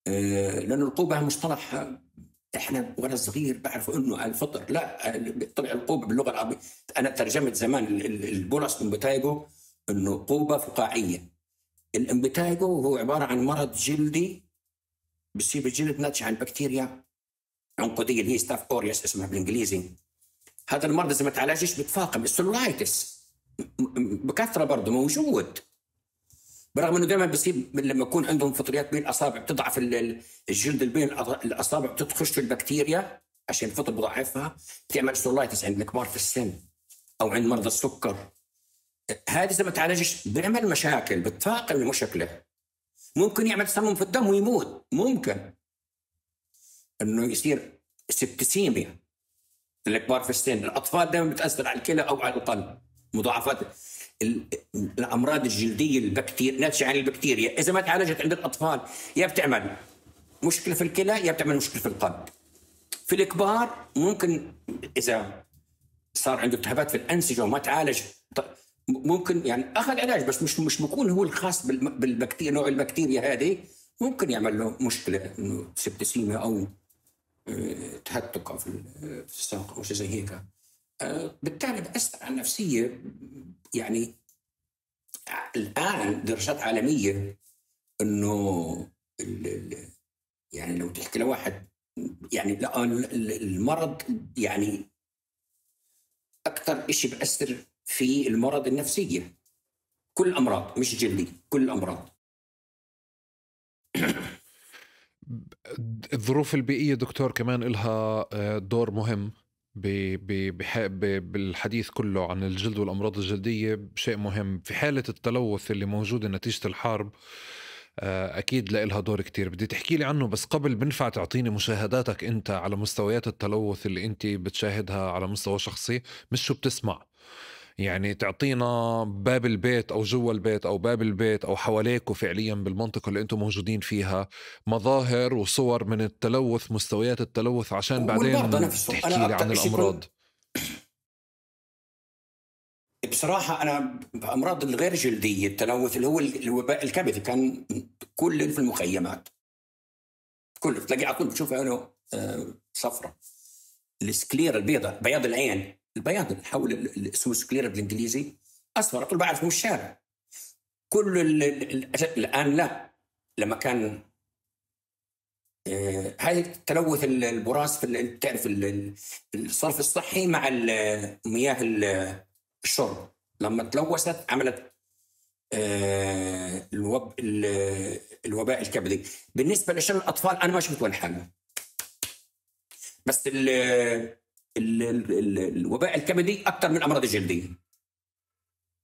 Speaker 1: لأن القوبة مصطلح إحنا وأنا صغير بعرفوا إنه الفطر، لا طلع القوبة باللغة العربية. أنا ترجمت زمان البولس امبوتايبو إنه قوبة فقاعية. الامبوتايبو هو عبارة عن مرض جلدي بصيب الجلد ناتج عن بكتيريا عنقودية اللي هي ستاف أوريوس اسمها بالإنجليزي. هذا المرض إذا ما تعالجش بتفاقم. السلولايتس بكثرة برضه موجود، برغم انه دائما بصيب لما يكون عندهم فطريات بين الاصابع بتضعف الجلد بين الاصابع، بتخش البكتيريا عشان الفطر بضعفها، بتعمل سولايتس عند الكبار في السن او عند مرضى السكر. هذه اذا ما تعالجش بيعمل مشاكل، بتفاقم المشكله، ممكن يعمل تسمم في الدم ويموت، ممكن انه يصير سبتسيميا للكبار في السن. الاطفال دائما بتاثر على الكلى او على القلب، مضاعفات الامراض الجلديه البكتيريا ناتجه عن البكتيريا اذا ما تعالجت عند الاطفال يا بتعمل مشكله في الكلى يا بتعمل مشكله في القلب. في الكبار ممكن اذا صار عنده التهابات في الانسجه وما تعالج ممكن يعني اخذ علاج بس مش بيكون هو الخاص بالبكتيريا، نوع البكتيريا هذه ممكن يعمل له مشكله انه سبتسيميا او تهتك في الساق او شيء زي هيك. بالتالي بأثر على النفسية. يعني الآن دراسات عالمية إنه يعني لو تحكي لواحد يعني لا المرض يعني أكثر إشي بأثر في المرض النفسية. كل الأمراض مش جلدي، كل الأمراض.
Speaker 2: الظروف البيئية دكتور كمان إلها دور مهم بالحديث كله عن الجلد والأمراض الجلدية. شيء مهم في حالة التلوث اللي موجودة نتيجة الحرب، أكيد لها دور كتير. بدي تحكي لي عنه، بس قبل بنفع تعطيني مشاهداتك أنت على مستويات التلوث اللي أنت بتشاهدها على مستوى شخصي، مش شو بتسمع. يعني تعطينا باب البيت أو جوا البيت أو باب البيت أو حواليكوا فعليا بالمنطقة اللي أنتم موجودين فيها مظاهر وصور من التلوث، مستويات التلوث، عشان
Speaker 1: والمرضى
Speaker 2: بعدين
Speaker 1: نفسهم.
Speaker 2: تحكي
Speaker 1: أنا
Speaker 2: لي عن
Speaker 1: أكثر إشي
Speaker 2: الأمراض.
Speaker 1: بصراحة أنا بأمراض الغير جلدية التلوث اللي هو الوباء الكبدي كان كل في المخيمات، كل تلاقي على طول بتشوف عينه صفرة. السكليرا البيضاء، بياض العين، البياض حول اسمه سكليرا بالإنجليزي، أصفر على طول بعرف من الشارع. كل الآن لا. لما كان هاي تلوث البراز في تعرف الصرف الصحي مع مياه الشرب، لما تلوثت عملت الوباء الكبدي. بالنسبة لشلل الأطفال أنا ما شفت ولا حاجة، بس الوباء الكبدي أكثر من الأمراض الجلدية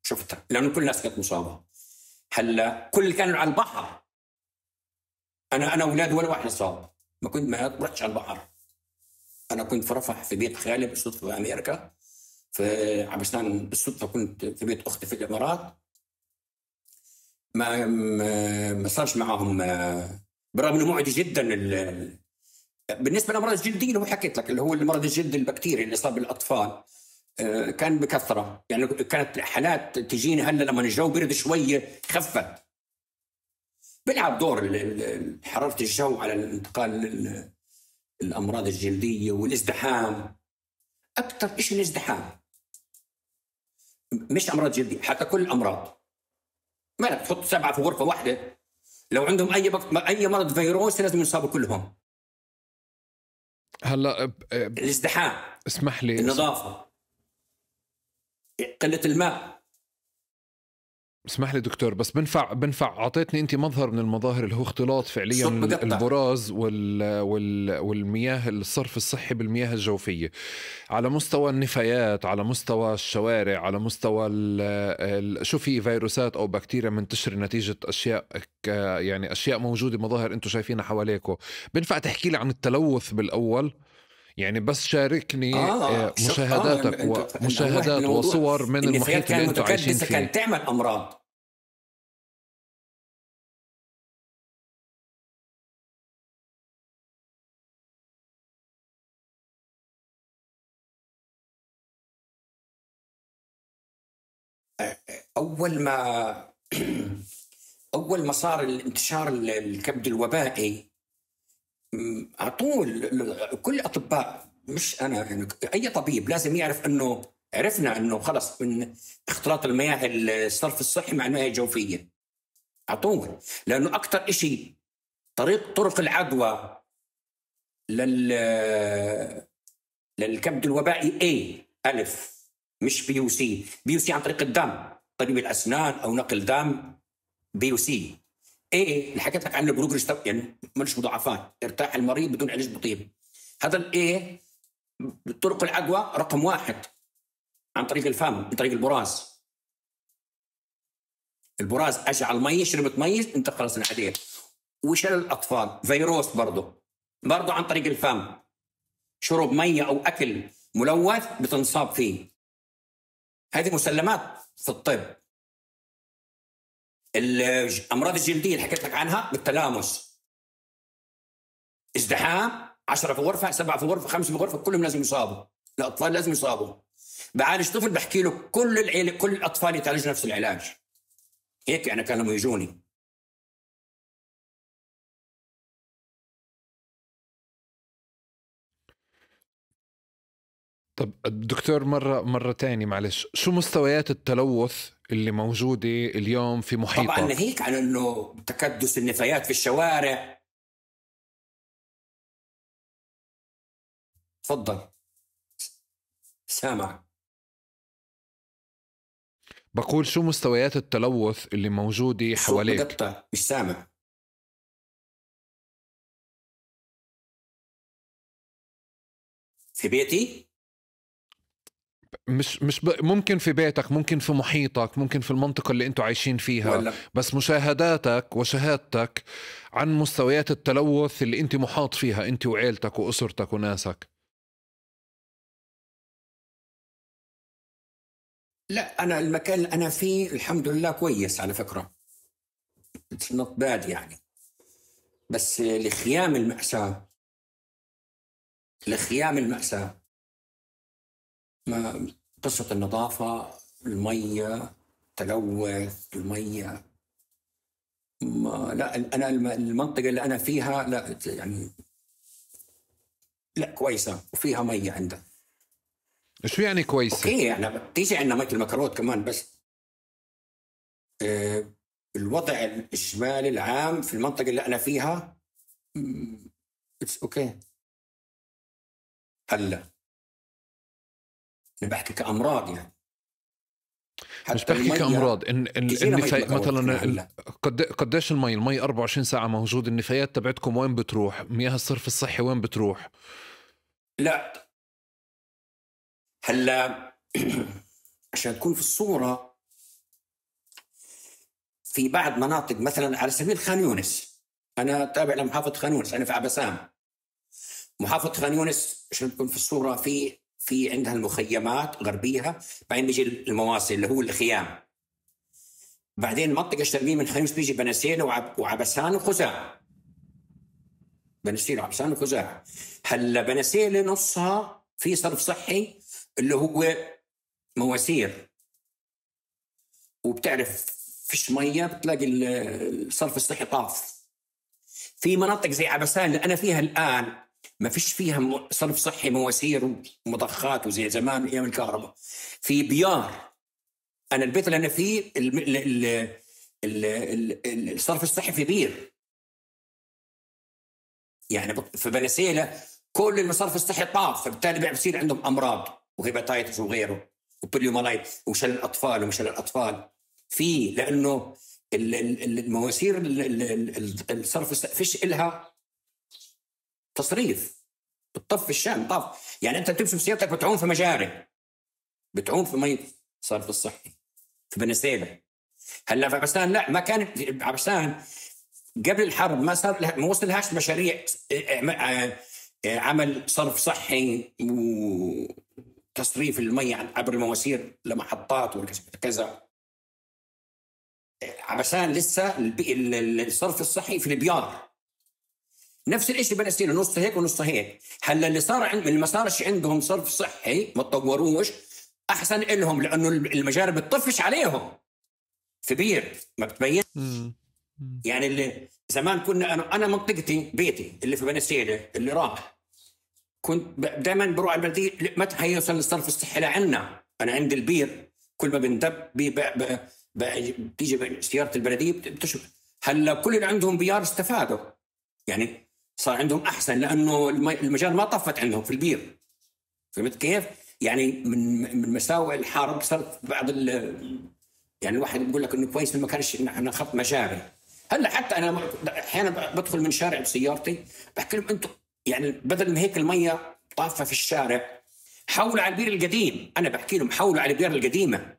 Speaker 1: شفتها، لأنه كل الناس كانت مصابة. هلا كل كانوا على البحر، أنا أولاد ولا واحد صاب. ما رحتش على البحر. أنا كنت في رفح في بيت خالي بالصدفة في أمريكا، في عبسان بالصدفة كنت في بيت أختي في الإمارات. ما صارش معهم، برغم إنه معدي جدا. بالنسبة للأمراض الجلدية اللي هو حكيت لك، اللي هو المرض الجلد البكتيري اللي صار بالأطفال، كان بكثرة. يعني كانت حالات تجيني هلا لما الجو برد شوية خفت. بيلعب دور حرارة الجو على الانتقال الأمراض الجلدية والازدحام. أكثر شيء الازدحام، مش أمراض جلدية، حتى كل الأمراض. ما لك تحط 7 في غرفة واحدة، لو عندهم أي مرض فيروسي لازم يصابوا كلهم.
Speaker 2: هلا
Speaker 1: الازدحام،
Speaker 2: اسمح لي،
Speaker 1: النظافة، قلة الماء.
Speaker 2: اسمح لي دكتور، بس بنفع اعطيتني انت مظهر من المظاهر اللي هو اختلاط فعليا البراز والمياه، الصرف الصحي بالمياه الجوفيه، على مستوى النفايات، على مستوى الشوارع، على مستوى شو في فيروسات او بكتيريا منتشره نتيجه اشياء يعني اشياء موجوده، مظاهر انتم شايفينها حواليكم. بنفع تحكي لي عن التلوث بالاول؟ يعني بس شاركني مشاهداتك ومشاهدات وصور من المحيط اللي انتم عايشين فيه.
Speaker 1: كانت تعمل أمراض. أول ما صار الانتشار الكبد الوبائي، على طول كل الأطباء، مش أنا يعني أي طبيب لازم يعرف إنه عرفنا إنه خلص من اختلاط المياه الصرف الصحي مع المياه الجوفية على طول، لأنه أكتر إشي طرق العدوى للكبد الوبائي ألف، مش بي وسي. بي وسي عن طريق الدم، طبيب الأسنان أو نقل دم. بي وسي اللي حكيت لك عنه بروجرس، يعني مش مضاعفات، ارتاح المريض بدون علاج بطيب. هذا طرق العدوى رقم 1 عن طريق الفم، عن طريق البراز. البراز اجى على المي، شربت مي، انت خلص انعديت. وشلل الاطفال فيروس برضه عن طريق الفم، شرب ميه او اكل ملوث بتنصاب فيه. هذه مسلمات في الطب. الامراض الجلديه اللي حكيت لك عنها بالتلامس، ازدحام، 10 في غرفه، 7 في غرفه، 5 في غرفه، كلهم لازم يصابوا. الاطفال لازم يصابوا. بعالج طفل بحكي له كل العيله، كل الاطفال يتعالجوا نفس العلاج. هيك يعني كانوا يجوني.
Speaker 2: طب دكتور مرة تاني معلش، شو مستويات التلوث اللي موجودة اليوم في
Speaker 1: طبعا
Speaker 2: محيطك؟
Speaker 1: ناهيك عن انه تكدس النفايات في الشوارع. تفضل سامع.
Speaker 2: بقول شو مستويات التلوث اللي موجودة حواليك؟
Speaker 1: بقطع مش سامع. في بيتي
Speaker 2: مش ممكن في بيتك، ممكن في محيطك، ممكن في المنطقة اللي انتوا عايشين فيها،
Speaker 1: ولا
Speaker 2: بس مشاهداتك وشهادتك عن مستويات التلوث اللي انت محاط فيها انت وعيلتك وأسرتك وناسك.
Speaker 1: لا، انا المكان اللي انا فيه الحمد لله كويس على فكرة. It's not bad يعني. بس لخيام المأساة، لخيام المأساة، ما قصة النظافة، المية، تلوث المية. ما لا، أنا المنطقة اللي أنا فيها لا يعني لا كويسة وفيها مية عندها.
Speaker 2: شو يعني كويسة؟
Speaker 1: أوكي يعني بتيجي عندنا مية المكروت كمان، بس الوضع الإجمالي العام في المنطقة اللي أنا فيها أوكي. هلا أنا بحكي كأمراض يعني.
Speaker 2: مش بحكي كأمراض، النفايات مثلا قديش المي 24 ساعة موجود، النفايات تبعتكم وين بتروح؟ مياه الصرف الصحي وين بتروح؟
Speaker 1: لا هلا عشان تكون في الصورة، في بعض مناطق مثلا على سبيل خان يونس، أنا تابع لمحافظة خان يونس، أنا في عبسام. محافظة خان يونس عشان تكون في الصورة، في عندها المخيمات غربيها، بعدين بيجي المواصل اللي هو الخيام، بعدين منطقة الشرقية من خان يونس بيجي بنسيل وعبسان وخزاع. بنسيل وعبسان وخزاع. هلا بنسيل نصها في صرف صحي اللي هو مواسير، وبتعرف فيش مية، بتلاقي الصرف الصحي طاف. في مناطق زي عبسان اللي أنا فيها الآن ما فيش فيها صرف صحي، مواسير ومضخات وزي زمان أيام الكهرباء. في بيار، أنا البيت اللي أنا فيه الصرف الصحي في بير يعني. في بنسيلة كل المصارف الصحي طاف، فبالتالي بيصير عندهم أمراض وهيباتايتس وغيره وبوليومالايت ومشل الأطفال ومشل الأطفال. في لأنه المواسير الصرف الصحي فيش إلها تصريف، بتطف في الشام طاف. يعني أنت بتمشي بسيارتك بتعوم في مجاري، بتعوم في مي صرف الصحي في بنسيلة. هلا في عبسان لا، ما كانت عبسان قبل الحرب ما صار، ما وصلهاش مشاريع عمل صرف صحي وتصريف المي عبر المواسير لمحطات وكذا. عبسان لسه الصرف الصحي في البيار. نفس الشيء بنسيل، نص هيك ونص هيك. هلا اللي صار اللي ما صارش عندهم صرف صحي، ما تطوروش، احسن لهم، لانه المجاري بتطفش عليهم في بير ما بتبين. يعني اللي زمان كنا انا منطقتي بيتي اللي في بنسيلة اللي راح، كنت دائما بروح على البلديه متى حيوصل الصرف الصحي لعنا. انا عند البير كل ما بندب بتيجي سياره البلديه بتشوف. هلا كل اللي عندهم بيار استفادوا، يعني صار عندهم احسن، لانه المجال ما طفت عندهم في البير. فهمت كيف؟ يعني من مساوئ الحرب صارت بعض يعني الواحد بيقول لك انه كويس ما كانش احنا خط مجاري. هلا حتى انا احيانا بدخل من شارع بسيارتي بحكي لهم انتم يعني بدل ما هيك الميه طافه في الشارع حولوا على البير القديم. انا بحكي لهم حولوا على البير القديمه.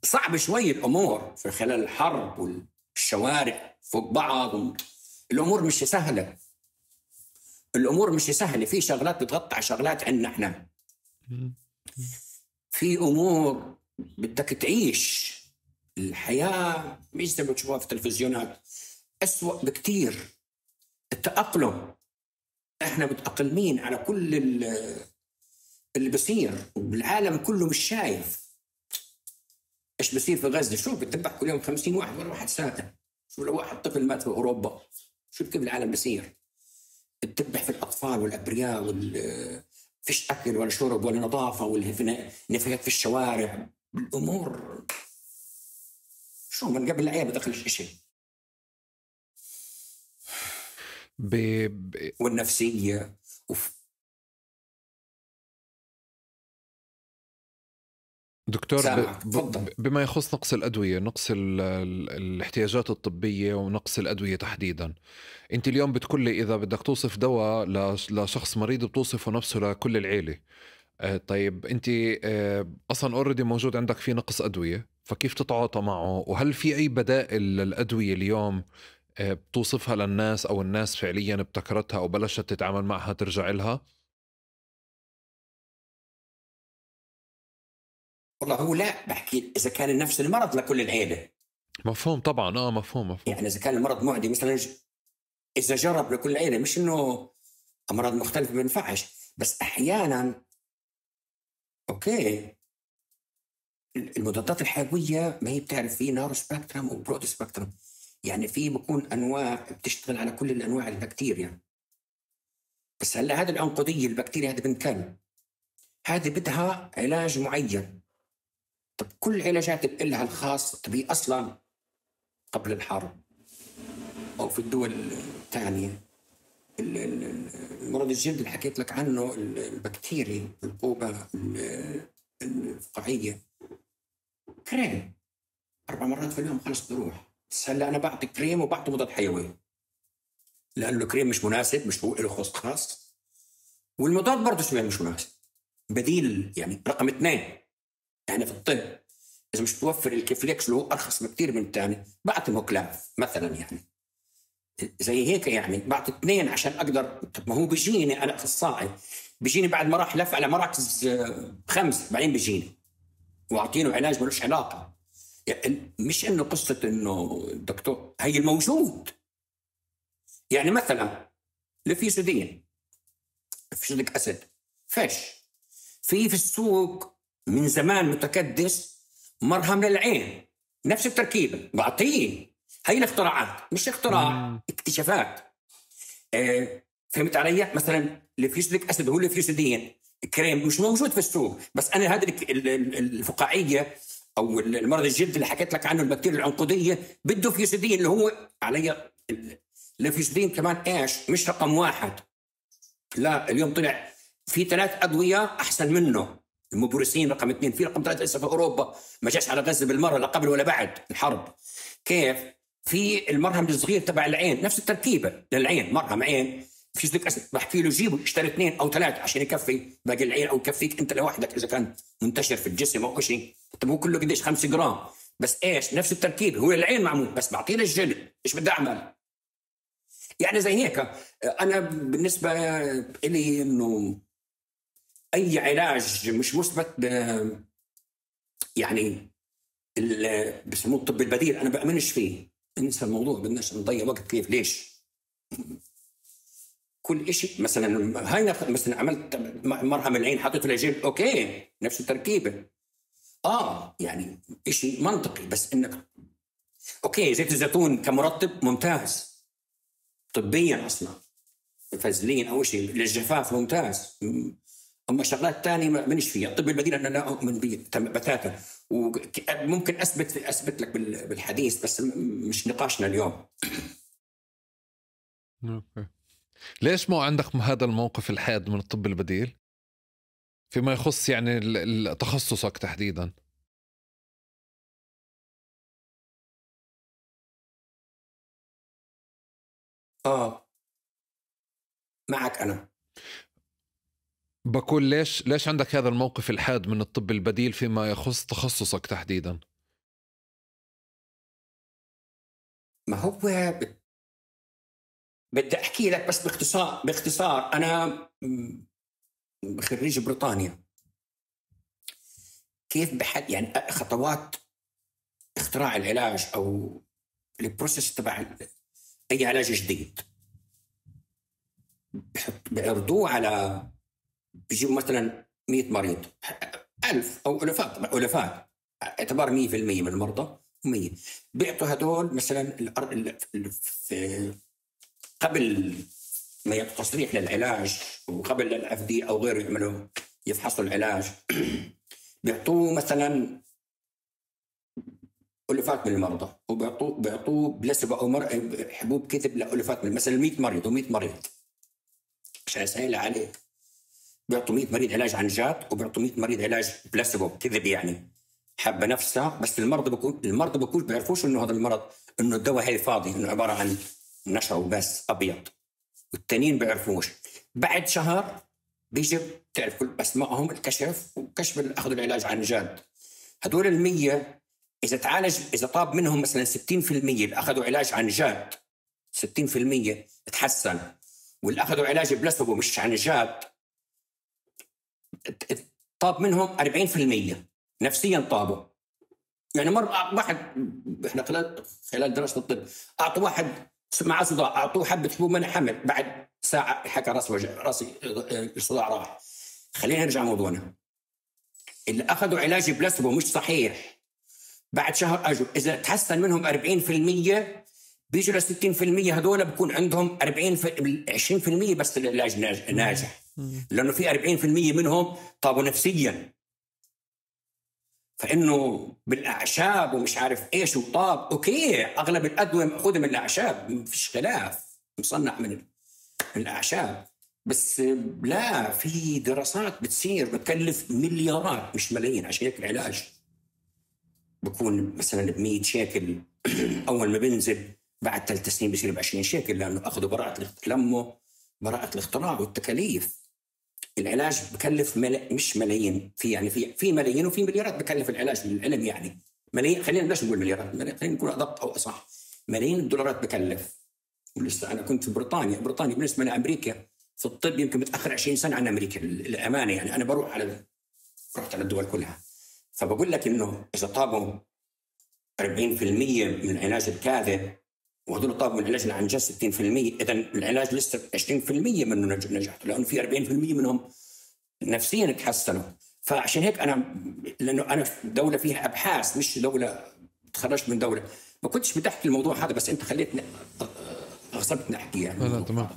Speaker 1: صعب شوي الامور في خلال الحرب والشوارع فوق بعض، الامور مش سهله. الامور مش سهله، في شغلات بتغطي شغلات عندنا احنا. في امور بدك تعيش الحياه مش زي ما بتشوفها في التلفزيونات، أسوأ بكتير. التأقلم، احنا متأقلمين على كل اللي بصير، والعالم كله مش شايف ايش بصير في غزة. شو بتذبح كل يوم 50 واحد ولا واحد ساكن؟ شو لو واحد طفل مات في أوروبا؟ شو كيف العالم بصير؟ بتذبح في الأطفال والأبرياء فيش أكل ولا شرب ولا نظافة، والنفايات في الشوارع، الأمور شو من قبل العيال بدخلش إشي. والنفسية
Speaker 2: دكتور، بما يخص نقص الأدوية، نقص الاحتياجات الطبية ونقص الأدوية تحديدا، أنت اليوم بتقولي إذا بدك توصف دواء لشخص مريض بتوصفه نفسه لكل العيلة. طيب أنت أصلا أوريدي موجود عندك في نقص أدوية، فكيف تتعاطى معه؟ وهل في أي بدائل للأدوية اليوم بتوصفها للناس أو الناس فعليا ابتكرتها أو بلشت تتعامل معها ترجع لها؟
Speaker 1: والله هو لا بحكي إذا كان نفس المرض لكل العيلة.
Speaker 2: مفهوم طبعا. مفهوم.
Speaker 1: يعني إذا كان المرض معدي مثلا إذا جرب لكل العيلة، مش إنه أمراض مختلفة ما ينفعش، بس أحيانا أوكي المضادات الحيوية ما هي بتعرف في نارو سبكترم وبرود سبكترم، يعني في بكون أنواع بتشتغل على كل الأنواع البكتيريا. بس هلا هذه العنقودية البكتيريا هذه بنت كلب، هذه بدها علاج معين. طب كل علاجات لها الخاص. طب هي أصلا قبل الحرب أو في الدول الثانية المرض الجلد اللي حكيت لك عنه، البكتيريا القوبة الفقاعية، كريم 4 مرات في اليوم خلص بروح. بس هلا أنا بعطي كريم وبعطي مضاد حيوي، لأنه الكريم مش مناسب، مش هو له خاص، والمضاد برضه شوية مش مناسب. بديل يعني رقم 2 يعني في الطب إذا مش توفر الكيفليكس اللي هو أرخص بكتير من الثاني، بعطي موكلاف مثلا، يعني زي هيك، يعني بعطي 2 عشان أقدر. طب ما هو بيجيني أنا أخصائي، بيجيني بعد ما راح لف على مراكز 5 بعدين بيجيني وأعطينه علاج ملوش علاقة. يعني مش إنه قصة إنه دكتور، هي الموجود. يعني مثلا الفيسودين، فيسوديك أسيد، فيش في السوق من زمان متكدس، مرهم للعين نفس التركيبة بعطيه. هي الاختراعات، مش اختراع، اكتشافات. فهمت علي؟ مثلا الفيسوديك أسيد هو الفيسودين كريم مش موجود في السوق، بس أنا هذه الفقاعية أو المرض الجلد اللي حكيت لك عنه البكتيريا العنقودية بده فيسودين اللي هو علي. الفيسودين كمان إيش مش رقم 1، لا اليوم طلع في 3 أدوية أحسن منه. المبورسين رقم 2، في رقم 3 لسه في أوروبا ما جاش على غزة بالمرة لا قبل ولا بعد الحرب. كيف؟ في المرهم الصغير تبع العين نفس التركيبة للعين، مرهم عين فيسوديك أسيد، بحكي له جيبه اشتري 2 أو 3 عشان يكفي باقي العين أو يكفيك أنت لوحدك إذا كان منتشر في الجسم أو شيء. طب هو كله قديش 5 جرام بس، إيش نفس التركيبة، هو العين معمول بس بعطيه للجلد. إيش بدي أعمل؟ يعني زي هيك. أنا بالنسبة إلي إنه أي علاج مش مثبت يعني بسموه الطب البديل أنا بأمنش فيه. ننسى الموضوع، بدناش نضيع وقت. كيف؟ ليش؟ كل إشي مثلا هاي مثلا عملت مرهم العين حطيته للجلد، أوكي نفس التركيبة، يعني إشي منطقي. بس إنك أوكي زيت الزيتون كمرطب ممتاز طبيا أصلا، فازلين أو شيء للجفاف ممتاز. أما شغلات تانية ما منش فيها. الطب البديل أنا لا أؤمن به بتاتا، وممكن أثبت لك بالحديث، بس مش نقاشنا اليوم.
Speaker 2: أوكي. ليش مو عندك هذا الموقف الحاد من الطب البديل فيما يخص يعني تخصصك تحديدا؟
Speaker 1: معك أنا
Speaker 2: بقول ليش عندك هذا الموقف الحاد من الطب البديل فيما يخص تخصصك تحديدا؟
Speaker 1: ما هو بدي أحكي لك بس باختصار أنا خريج بريطانيا. كيف يعني خطوات اختراع العلاج أو البروسيس تبع أي علاج جديد، بيعرضوه على بيجيبوا مثلا 100 مريض، 1000 أو ألفات اعتبار 100% من المرضى 100 بيعطوا هدول مثلا قبل ما يعطوا تصريح للعلاج، وقبل الأف دي أو غيره يعملوا يفحصوا العلاج بيعطوه مثلا ألوفات من المرضى، وبيعطوه بلاسبو أو حبوب كذب لألوفات من مثلا 100 مريض و100 مريض عشان يسهل عليه. بيعطوا 100 مريض علاج عن جد، وبيعطوا 100 مريض علاج بلاسبو كذب، يعني حبة نفسها. بس المرضى بكون بيعرفوش إنه هذا المرض إنه الدواء هي فاضي، إنه عبارة عن نشا وبس أبيض، والتانيين بيعرفوش. بعد شهر بيجي تعرف كل أسمائهم، الكشف وكشف أخذوا العلاج عن جد. هدول 100 إذا طاب منهم مثلا 60% اللي أخذوا علاج عن جد 60% تحسن، واللي أخذوا علاج بلاسبو مش عن جد طاب منهم 40% نفسيا طابوا. يعني مرة واحد إحنا خلال دراسة الطب أعطوا واحد مع صداع، أعطوه حبة حبوب منع حمل، بعد ساعة حكى راسي الصداع راح. خلينا نرجع موضوعنا. اللي أخذوا علاج بلاسبو مش صحيح بعد شهر أجوا إذا تحسن منهم 40% بيجوا ل 60%، هذول بكون عندهم 20% بس العلاج ناجح، لأنه في 40% منهم طابوا نفسيا. فإنه بالأعشاب ومش عارف إيش وطاب أوكي، أغلب الأدوية مأخوذة من الأعشاب، مفيش خلاف، مصنع من الأعشاب. بس لا، في دراسات بتصير بتكلف مليارات مش ملايين. عشان هيك العلاج بكون مثلا ب100 شيكل أول ما بنزل، بعد 3 سنين بصير ب20 شيكل، لأنه أخذوا براءة الاختراع والتكاليف. العلاج بكلف مش ملايين، في ملايين وفي مليارات بكلف العلاج للعلم. يعني ملايين، خلينا بلاش نقول مليارات، خلينا نقول أدق أو أصح، ملايين الدولارات بكلف. ولسه أنا كنت في بريطانيا بالنسبة لأمريكا في الطب يمكن متأخر 20 سنة عن أمريكا الأمانة. يعني أنا رحت على الدول كلها، فبقول لك إنه إذا طابوا 40% من العلاج الكاذب وهذول طابوا من العلاج عن جد 60%، إذا العلاج لسه 20% منه نجحت، لأنه في 40% منهم نفسيا تحسنوا. فعشان هيك لأنه أنا في دولة فيها أبحاث، مش دولة تخرجت من دولة، ما كنتش بتحكي الموضوع هذا، بس أنت خليتني أغصبتني أحكي. يعني
Speaker 2: لا تمام.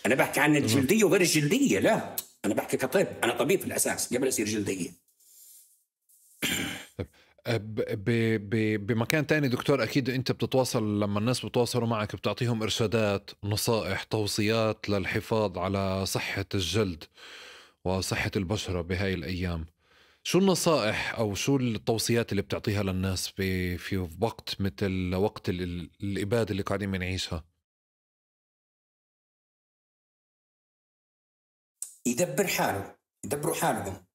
Speaker 1: أنا بحكي عن الجلدية وغير الجلدية، لا أنا بحكي كطب، أنا طبيب في الأساس قبل أصير جلدية.
Speaker 2: بمكان تاني دكتور، أكيد أنت بتتواصل لما الناس بتواصلوا معك بتعطيهم إرشادات، نصائح، توصيات للحفاظ على صحة الجلد وصحة البشرة بهاي الأيام. شو النصائح أو شو التوصيات اللي بتعطيها للناس في وقت مثل وقت الإبادة اللي قاعدين بنعيشها؟
Speaker 1: يدبروا حالهم.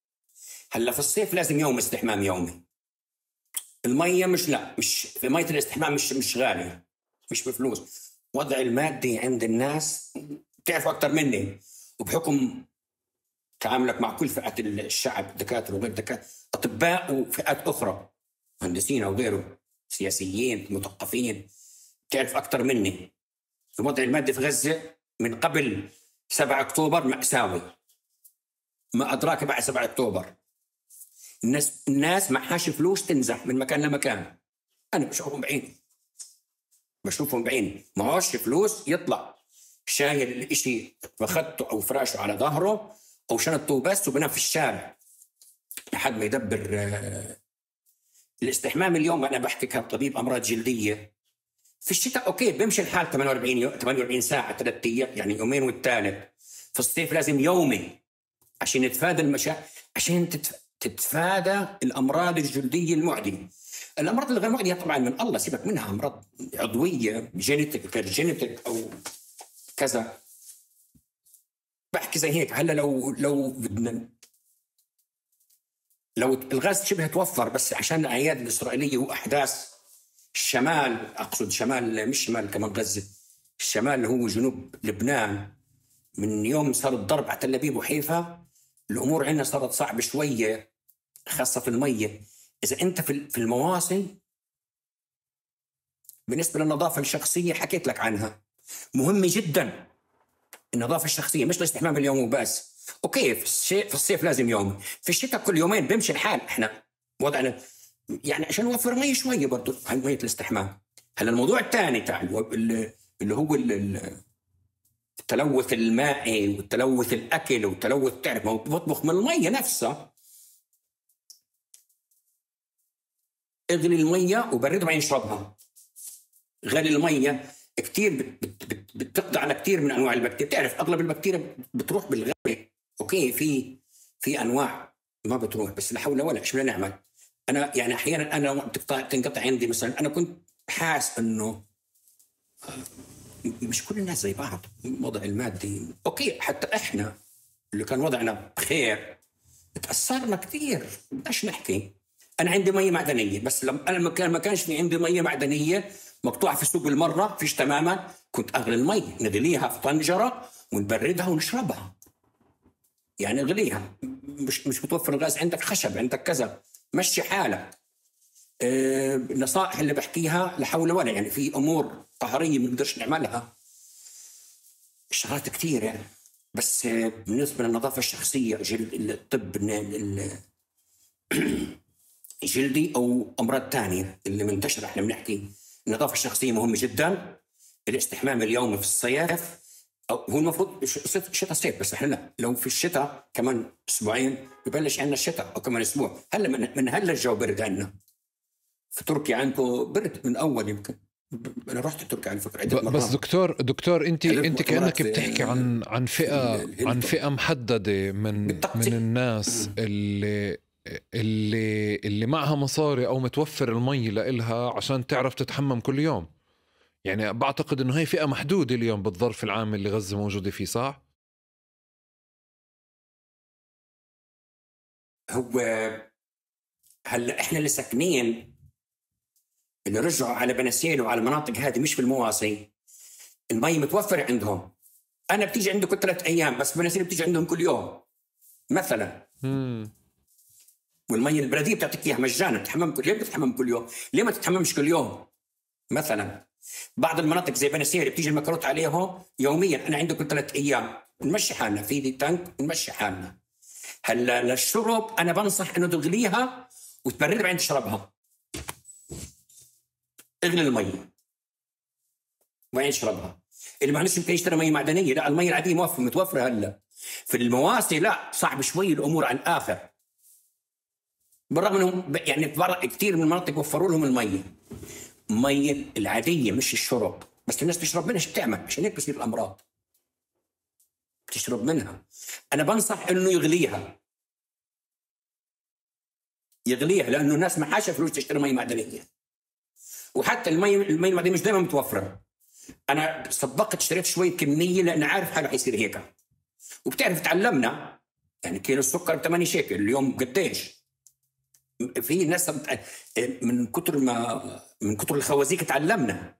Speaker 1: هلا في الصيف لازم يوم استحمام يومي. المية مش في مية الاستحمام مش غالية، مش بفلوس. وضع المادي عند الناس تعرفوا أكتر مني، وبحكم تعاملك مع كل فئات الشعب، دكاترة وغير دكاترة، أطباء وفئات أخرى، مهندسين أو غيره، سياسيين، مثقفين، تعرف أكتر مني. الوضع المادي في غزة من قبل 7 أكتوبر مأساوي، ما أدراك بعد 7 أكتوبر. الناس معهاش فلوس تنزح من مكان لمكان. أنا بشوفهم بعيني معهاش فلوس، يطلع شايل الإشي فخدته أو فراشه على ظهره أو شنطه بس وبنام في الشارع لحد ما يدبر الاستحمام. اليوم أنا بحكي كطبيب أمراض جلدية، في الشتاء أوكي بمشي الحال 48 ساعة 3 أيام، يعني يومين والثالث. في الصيف لازم يومي عشان نتفادى عشان تتفادى الأمراض الجلدية المعدية. الأمراض الغير معدية طبعا من الله، سيبك منها، أمراض عضوية جينيتك أو كذا، بحكي زي هيك. هلا لو الغاز شبه توفر، بس عشان الأعياد الإسرائيلية وأحداث الشمال، أقصد شمال مش شمال كمان غزة، الشمال اللي هو جنوب لبنان، من يوم صار الضرب على تل أبيب وحيفا الأمور عندنا صارت صعبة شوية، خاصة في المية. إذا أنت في المواصل، بالنسبة للنظافة الشخصية حكيت لك عنها، مهمة جدا النظافة الشخصية، مش الاستحمام اليومي بس. أوكي في الصيف لازم يوم، في الشتاء كل يومين بيمشي الحال. إحنا وضعنا يعني عشان نوفر مية شوية برضو عن مية الاستحمام. هلا الموضوع الثاني اللي هو التلوث المائي والتلوث الأكل والتلوث، تعرف ما بطبخ من المية نفسها. اغلي المية وبردها بعدين اشربها. غلي المية كتير بتقضي على كتير من أنواع البكتيريا. بتعرف أغلب البكتيريا بتروح بالغلي. أوكي في أنواع ما بتروح، بس لا حول ولا إيش بدنا نعمل. أنا يعني أحيانا أنا تنقطع عندي مثلا، أنا كنت حاس إنه مش كل الناس زي بعض الوضع المادي. أوكي حتى إحنا اللي كان وضعنا بخير تأثرنا كتير. بدناش نحكي. أنا عندي مية معدنية، بس لما أنا ما كانش في عندي مية معدنية مقطوعة في السوق بالمرة فيش تماما، كنت أغلي المية نغليها في طنجرة ونبردها ونشربها. يعني اغليها، مش متوفر الغاز عندك، خشب عندك كذا، مشي حالك. النصائح اللي بحكيها لا حول ولا، يعني في أمور طهرية ما نقدرش نعملها، شغلات كثير يعني. بس بالنسبة للنظافة الشخصية، الطب جلدي أو أمراض تانية اللي منتشرة، احنا بنحكي النظافة الشخصية مهمة جدا. الاستحمام اليومي في الصيف، هو المفروض شتاء صيف، بس احنا لا، لو في الشتاء كمان أسبوعين ببلش عندنا الشتاء، أو كمان أسبوع. هلا من هلا الجو برد عندنا. في تركيا عندكم برد من أول يمكن. أنا رحت تركيا على فكرة عدة مرات.
Speaker 2: بس دكتور أنت كأنك بتحكي عن فئة محددة من الناس اللي معها مصاري أو متوفر المي لإلها عشان تعرف تتحمم كل يوم. يعني بعتقد إنه هي فئة محدودة اليوم بالظرف العام اللي غزة موجودة فيه، صح؟
Speaker 1: هو هلا احنا اللي ساكنين، اللي رجعوا على بنسيل وعلى المناطق هذه مش في المواصي، المي متوفرة عندهم. أنا بتيجي عندي كل 3 أيام، بس بنسيل بتيجي عندهم كل يوم مثلا. والمي البلدية بتعطيك إياها مجانا، تتحمم ليه بتتحمم كل يوم؟ ليه ما تتحممش كل يوم؟ مثلا بعض المناطق زي بنسير بتيجي المكروت عليهم يوميا. أنا عندي كل 3 أيام نمشي حالنا في دي تانك ونمشي حالنا. هلا للشرب أنا بنصح إنه تغليها وتبردها بعدين تشربها. اغلي المي وبعدين اشربها. اللي ما عندوش يمكن يشتري مي معدنيه، لا المي العاديه متوفره هلا. في المواسي لا، صعب شوي الامور على الاخر، بالرغم انهم يعني كثير من المناطق وفروا لهم المي العاديه مش الشرب، بس الناس تشرب منها. ايش بتعمل؟ عشان هيك بصير الامراض، بتشرب منها. انا بنصح انه يغليها لانه الناس ما حاشة فلوس تشتري مي معدنيه. وحتى المي المعدنيه مش دائما متوفره. انا سبقت اشتريت شويه كميه لان عارف حاله حيصير هيك. وبتعرف تعلمنا يعني كيلو السكر ب8 شيكل اليوم قديش. في ناس من كتر الخوازيق تعلمنا،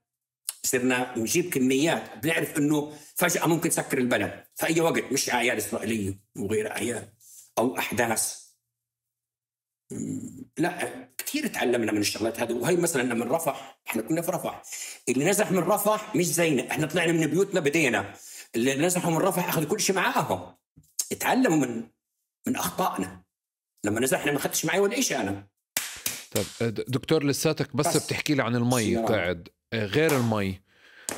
Speaker 1: صرنا نجيب كميات. بنعرف انه فجاه ممكن تسكر البلد في اي وقت، مش اعياد اسرائيليه وغير اعياد او احداث. لا كثير تعلمنا من الشغلات هذه. وهي مثلا من رفح، احنا كنا في رفح، اللي نزح من رفح مش زينا، احنا طلعنا من بيوتنا بدينا. اللي نزحوا من رفح اخذوا كل شيء معاهم، اتعلموا من اخطائنا. لما نزحنا ما اخذتش معي ولا شيء انا.
Speaker 2: طيب دكتور لساتك بس بتحكي لي عن المي قاعد، غير المي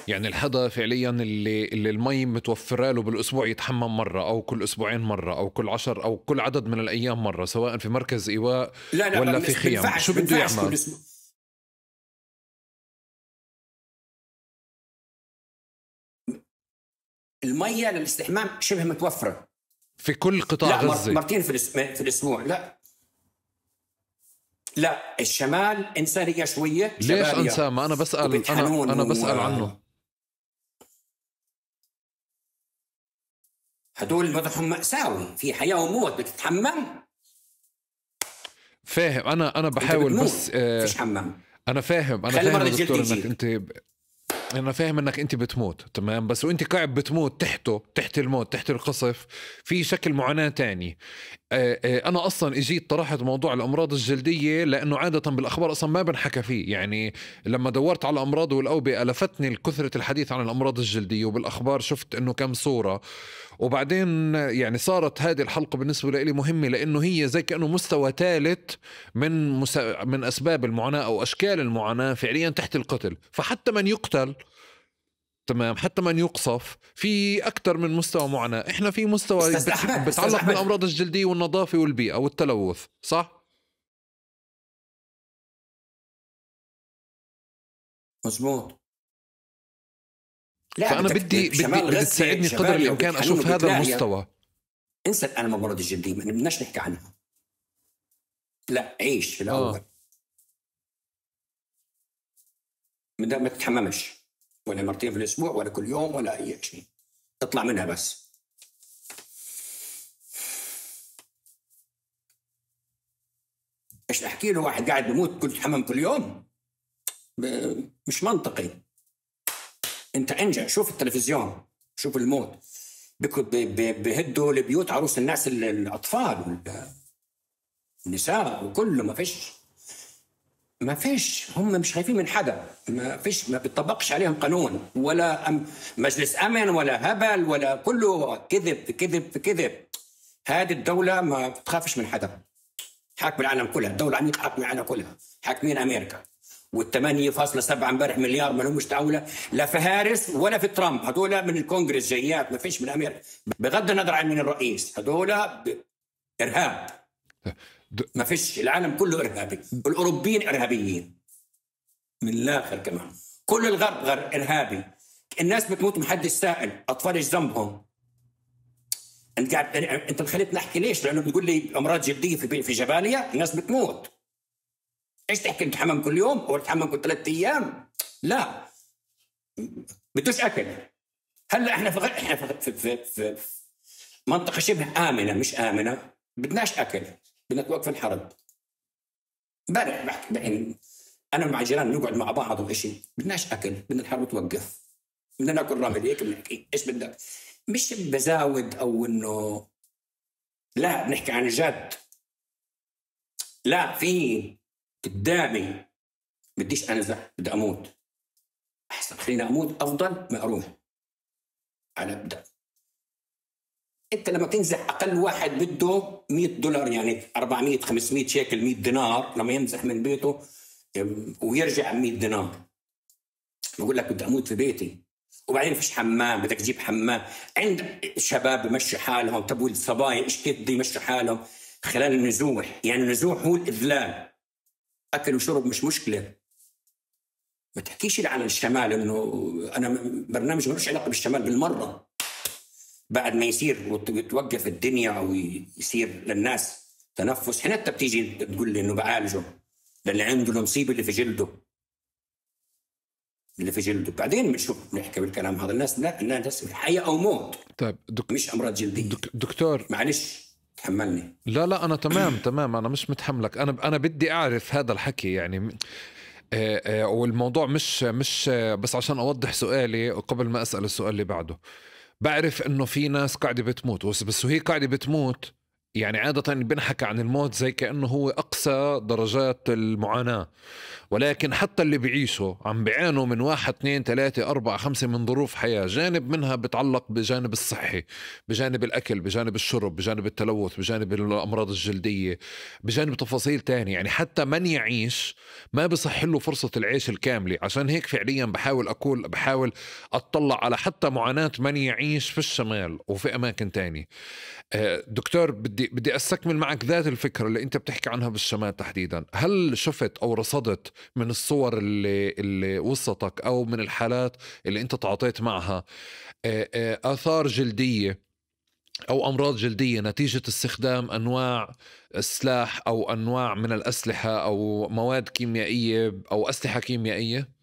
Speaker 2: يعني الحدا فعليا اللي المي متوفره له بالاسبوع يتحمم مره او كل اسبوعين مره او كل 10 او كل عدد من الايام مره، سواء في مركز ايواء ولا في خيام، شو بده يعمل؟
Speaker 1: المية للاستحمام شبه متوفرة
Speaker 2: في كل قطاع غزة،
Speaker 1: مرتين في الاسبوع. لا الشمال إنسانية شوية.
Speaker 2: ليش أنسى؟ ما أنا بسأل، أنا بسأل عنه.
Speaker 1: هدول وضعهم مأساوي، في حياة وموت، بتتحمم.
Speaker 2: فاهم. أنا بحاول بس
Speaker 1: فيش حمام.
Speaker 2: أنا فاهم دكتور أنا فاهم إنك أنت بتموت تمام، بس وأنت قاعد بتموت تحت الموت، تحت القصف، في شكل معاناة تاني. أنا أصلا إجيت طرحت موضوع الأمراض الجلدية لأنه عادة بالأخبار أصلا ما بنحكى فيه. يعني لما دورت على الأمراض والأوبئة لفتني كثرة الحديث عن الأمراض الجلدية، وبالأخبار شفت إنه كم صورة. وبعدين يعني صارت هذه الحلقة بالنسبة لي مهمة، لأنه هي زي كأنه مستوى ثالث من أسباب المعاناة أو أشكال المعاناة فعليا تحت القتل. فحتى من يقتل تمام، حتى من يقصف في أكثر من مستوى معاناة. إحنا في مستوى بتعلق بالأمراض الجلدية والنظافة والبيئة والتلوث، صح؟
Speaker 1: مزبوط. لا
Speaker 2: فأنا بدي تساعدني قدر الإمكان أشوف هذا المستوى.
Speaker 1: انسى الآن الأمراض الجلدية، ما بدناش نحكي عنها. لا، عيش في الأول. ما تتحممش ولا مرتين في الأسبوع ولا كل يوم ولا أي شيء، اطلع منها بس. ايش احكي له واحد قاعد بموت كل تحمم كل يوم؟ مش منطقي. انت انجح، شوف التلفزيون، شوف الموت، بهدوا البيوت عروس الناس، الأطفال والنساء وكله. ما فيش هم مش خايفين من حدا، ما بيطبقش عليهم قانون ولا مجلس أمن ولا هبل ولا، كله كذب كذب كذب. هذه الدولة ما بتخافش من حدا، حاكم العالم كلها، الدولة عميقة حاكم العالم كلها، حاكمين أمريكا. وال8.7 امبارح مليار ما لهمش دولة، لا في هارس ولا في ترامب، هذول من الكونغرس جايات، ما فيش من أمريكا، بغض النظر عن من الرئيس، هذول إرهاب. ما فيش، العالم كله إرهابي، والأوروبيين إرهابيين من الآخر كمان، كل الغرب إرهابي. الناس بتموت محدش سائل، أطفال إيش ذنبهم؟ أنت خليتني نحكي ليش؟ لأنه بيقول لي أمراض جلدية في جباليا، الناس بتموت. إيش تحكي تحمم كل يوم أو تحمم كل 3 أيام؟ لا، بدوش أكل. هلا إحنا في منطقة شبه آمنة، مش آمنة، بدناش أكل، بدنا توقف الحرب. امبارح بحكي أنا مع جيران نقعد مع بعض وإشي، بدناش أكل، بدنا الحرب توقف، بدنا ناكل رمل. هيك بنحكي إيش بدك، مش بزاود أو إنه لا، بنحكي عن جد. لا، في قدامي بديش أنزح، بدي أموت. أحسن خليني أموت أفضل ما أروح على أبدأ. أنت لما تنزح أقل واحد بده $100، يعني 400-500 شيكل، 100 دينار، لما ينزح من بيته ويرجع 100 دينار. بقول لك بدي أموت في بيتي، وبعدين فيش حمام، بدك تجيب حمام. عند شباب بمشي حالهم، تبوا الصبايا إيش كيف بده يمشي حالهم خلال النزوح. يعني النزوح هو الإذلال، أكل وشرب مش مشكلة. ما تحكيش لي عن الشمال، إنه أنا برنامج ملوش علاقة بالشمال بالمرة. بعد ما يصير وتوقف الدنيا أو يصير للناس تنفس، هنا أنت بتيجي تقول لي إنه بعالجه للي عنده المصيبة اللي في جلده، بعدين بنشوف نحكي بالكلام هذا. الناس لا، الناس حياة أو موت.
Speaker 2: طيب
Speaker 1: مش أمراض جلدية.
Speaker 2: دكتور
Speaker 1: معلش تحملني.
Speaker 2: لا أنا تمام أنا مش متحملك. أنا بدي أعرف هذا الحكي يعني. والموضوع مش بس عشان أوضح سؤالي قبل ما أسأل السؤال اللي بعده. بعرف إنه في ناس قاعدة بتموت، بس وهي قاعدة بتموت يعني عادة بنحكى عن الموت زي كأنه هو أقصى درجات المعاناة، ولكن حتى اللي بيعيشوا عم بيعانوا من 1 2 3 4 5 من ظروف حياة. جانب منها بتعلق بجانب الصحي، بجانب الأكل، بجانب الشرب، بجانب التلوث، بجانب الأمراض الجلدية، بجانب تفاصيل تانية. يعني حتى من يعيش ما بصح له فرصة العيش الكاملة. عشان هيك فعليا بحاول أطلع على حتى معاناة من يعيش في الشمال وفي أماكن تانية. دكتور بدي أستكمل معك ذات الفكرة اللي أنت بتحكي عنها بالشمال تحديدا. هل شفت أو رصدت من الصور اللي وصلتك أو من الحالات اللي أنت تعاطيت معها آثار جلدية أو أمراض جلدية نتيجة استخدام أنواع سلاح أو أنواع من الأسلحة أو مواد كيميائية أو أسلحة كيميائية؟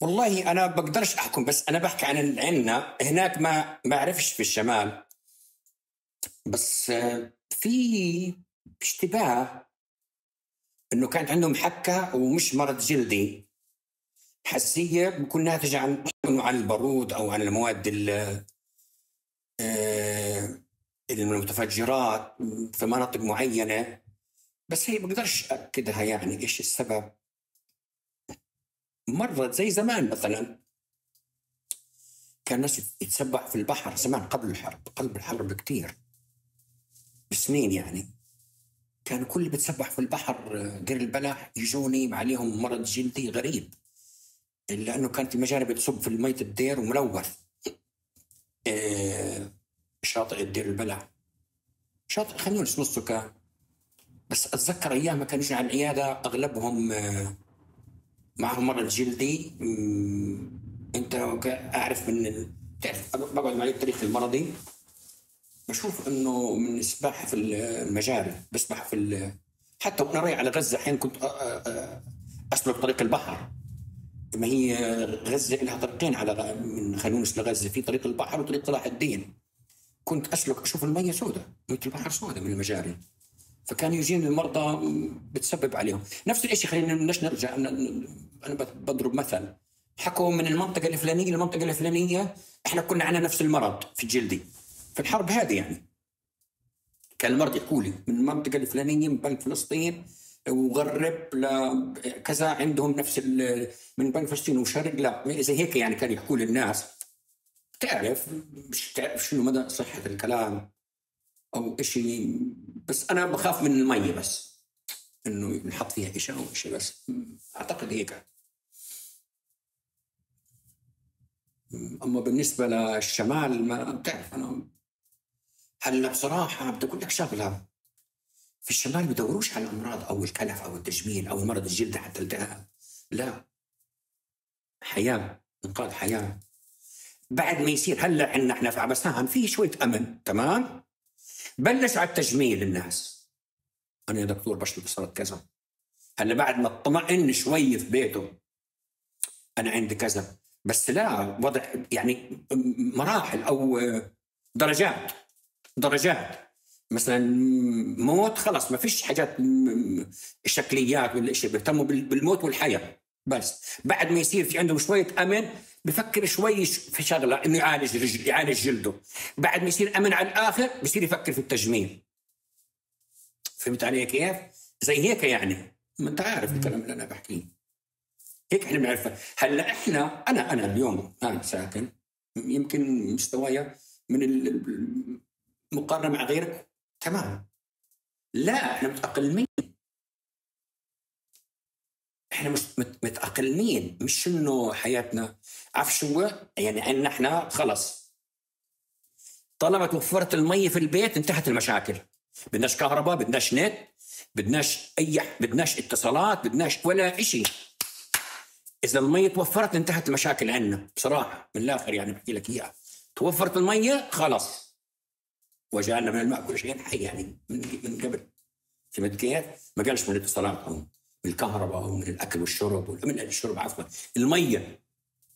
Speaker 1: والله أنا بقدرش أحكم، بس أنا بحكي عن عنا هناك، ما أعرفش في الشمال. بس في اشتباه إنه كانت عندهم حكة ومش مرض جلدي، حساسية بكون ناتجة عن البارود أو عن المواد المتفجرات في مناطق معينة. بس هي بقدرش أكدها يعني إيش السبب. مرة زي زمان مثلا كان الناس يتسبح في البحر زمان قبل الحرب بكتير، بسنين يعني. كانوا كل اللي بتسبح في البحر دير البلح يجوني عليهم مرض جلدي غريب، لأنه كانت المجاري بتصب في المية الدير وملوث. شاطئ دير البلح، شاطئ خانيونس نصه كان، بس أتذكر أيام ما كانوا يجوا على العيادة أغلبهم معهم مرض جلدي. أنت أعرف تعرف بقعد معي التاريخ المرضي، بشوف إنه من السباحة في المجاري، بسبح حتى وأنا رايح على غزة حين كنت أسلك طريق البحر. ما هي غزة لها طريقين على من خانيونس لغزة، في طريق البحر وطريق صلاح الدين. كنت أسلك أشوف المية سوداء، مية البحر سوداء من المجاري، فكان يجين المرضى بتسبب عليهم نفس الشيء. خلينا نرجع، أنا بضرب مثل، حكوا من المنطقة الفلانية للمنطقة الفلانية إحنا كنا عنا نفس المرض في الجلدي في الحرب هذه. يعني كان المرض يحكوا لي من المنطقة الفلانية من بنك فلسطين وغرب لكذا عندهم نفس من بنك فلسطين وشرق، لا زي هيك يعني كان يحكوا للناس. مش تعرف شنو مدى صحة الكلام أو إشي، بس أنا بخاف من المية، بس إنه نحط فيها إشي أو إشي، بس أعتقد هيك. أما بالنسبة للشمال ما بتعرف أنا. هلا بصراحة بدي أقول لك شغلة، في الشمال بدوروش على الأمراض أو الكلف أو التجميل أو مرض الجلد حتى التهاب، لا، حياة، إنقاذ حياة. بعد ما يصير هلا عندنا إحنا في عبسان في شوية أمن، تمام، بلش على التجميل الناس. أنا يا دكتور بشرب صارت كذا، هلا بعد ما اطمئن شوي في بيته أنا عندي كذا، بس لا، وضع يعني مراحل أو درجات. مثلا موت خلاص ما فيش حاجات شكليات ولا شيء، بيهتموا بالموت والحياة بس. بعد ما يصير في عندهم شوية أمن بفكر شوي في شغلة إنه يعالج جلده. بعد ما يصير أمن على الآخر بيصير يفكر في التجميل. فهمت علي كيف؟ زي هيك يعني، ما أنت عارف الكلام اللي أنا بحكيه. هيك إحنا بنعرفه. هلا إحنا أنا اليوم أنا ساكن يمكن مستوايا من المقارنة مع غيرك تمام، لا إحنا متأقلمين، إحنا مش متأقلمين، مش إنه حياتنا عارف شو يعني. إن إحنا خلص طالما توفرت المية في البيت انتهت المشاكل. بدناش كهرباء، بدناش نت، بدناش اتصالات، بدناش ولا إشي. إذا المية توفرت انتهت المشاكل عنا بصراحة، من الآخر يعني بحكي لك إياها. توفرت المية خلاص، وجعلنا من الماء كل شيء حي يعني من قبل. فهمت كيف؟ ما قالش من الاتصالات أو من الكهرباء أو من الأكل والشرب، من الشرب عفوا، المية.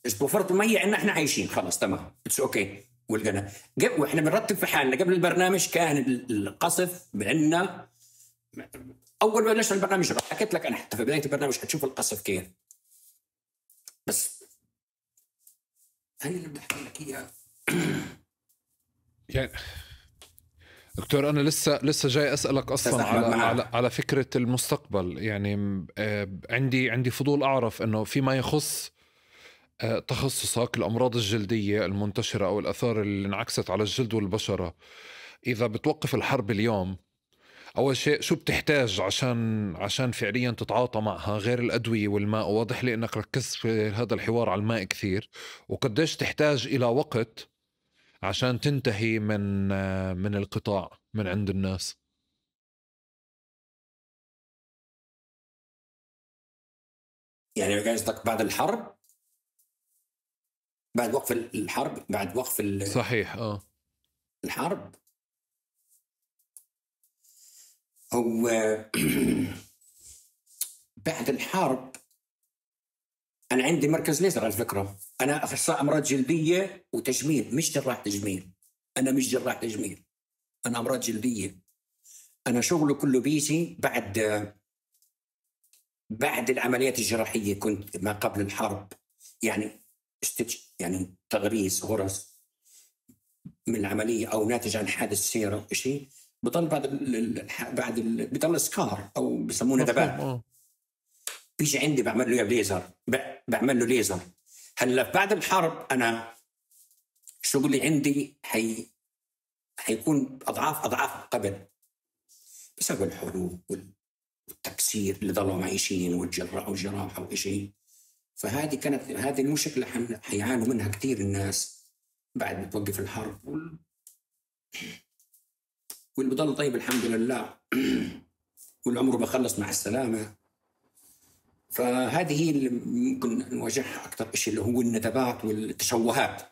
Speaker 1: إذا توفرت المية عنا إحنا عايشين خلاص تمام، اتس أوكي. ولقنا وإحنا بنرتب في حالنا. قبل البرنامج كان القصف عنا، أول ما بلشنا البرنامج حكيت لك أنا حتى في بداية البرنامج حتشوف القصف كيف، بس هاي اللي بدي أحكي لك إياها.
Speaker 2: يعني دكتور أنا لسه جاي أسألك أصلا على فكرة المستقبل. يعني عندي فضول أعرف إنه فيما يخص تخصصك الأمراض الجلدية المنتشرة أو الآثار اللي انعكست على الجلد والبشرة، إذا بتوقف الحرب اليوم أول شيء شو بتحتاج عشان فعليا تتعاطى معها غير الأدوية والماء؟ واضح لي أنك ركزت في هذا الحوار على الماء كثير. وقديش تحتاج إلى وقت عشان تنتهي من القطاع من عند الناس؟
Speaker 1: يعني قصدك بعد الحرب، بعد وقف الحرب، بعد وقف
Speaker 2: صحيح
Speaker 1: الحرب. هو بعد الحرب أنا عندي مركز ليزر على فكرة. أنا أخصائي أمراض جلدية وتجميل، مش جراح تجميل. أنا مش جراح تجميل، أنا أمراض جلدية. أنا شغله كله بيجي بعد العمليات الجراحية. كنت ما قبل الحرب يعني يعني تغريس غرز من العملية أو ناتج عن حادث سيارة أو شيء، بضل بضل سكار أو بسمونه ذباب. بيجي عندي بعمل له ليزر. هلا بعد الحرب أنا شغلي عندي حيكون أضعاف قبل، بسبب الحروب والتكسير اللي ضلوا معيشين والجراحة وإشي. فهذه كانت هذه المشكلة حيعانوا منها كثير الناس بعد ما توقف الحرب واللي بضل طيب الحمد لله والعمر بخلص مع السلامة. فهذه هي اللي ممكن نواجهها أكثر إشي اللي هو الندبات والتشوهات.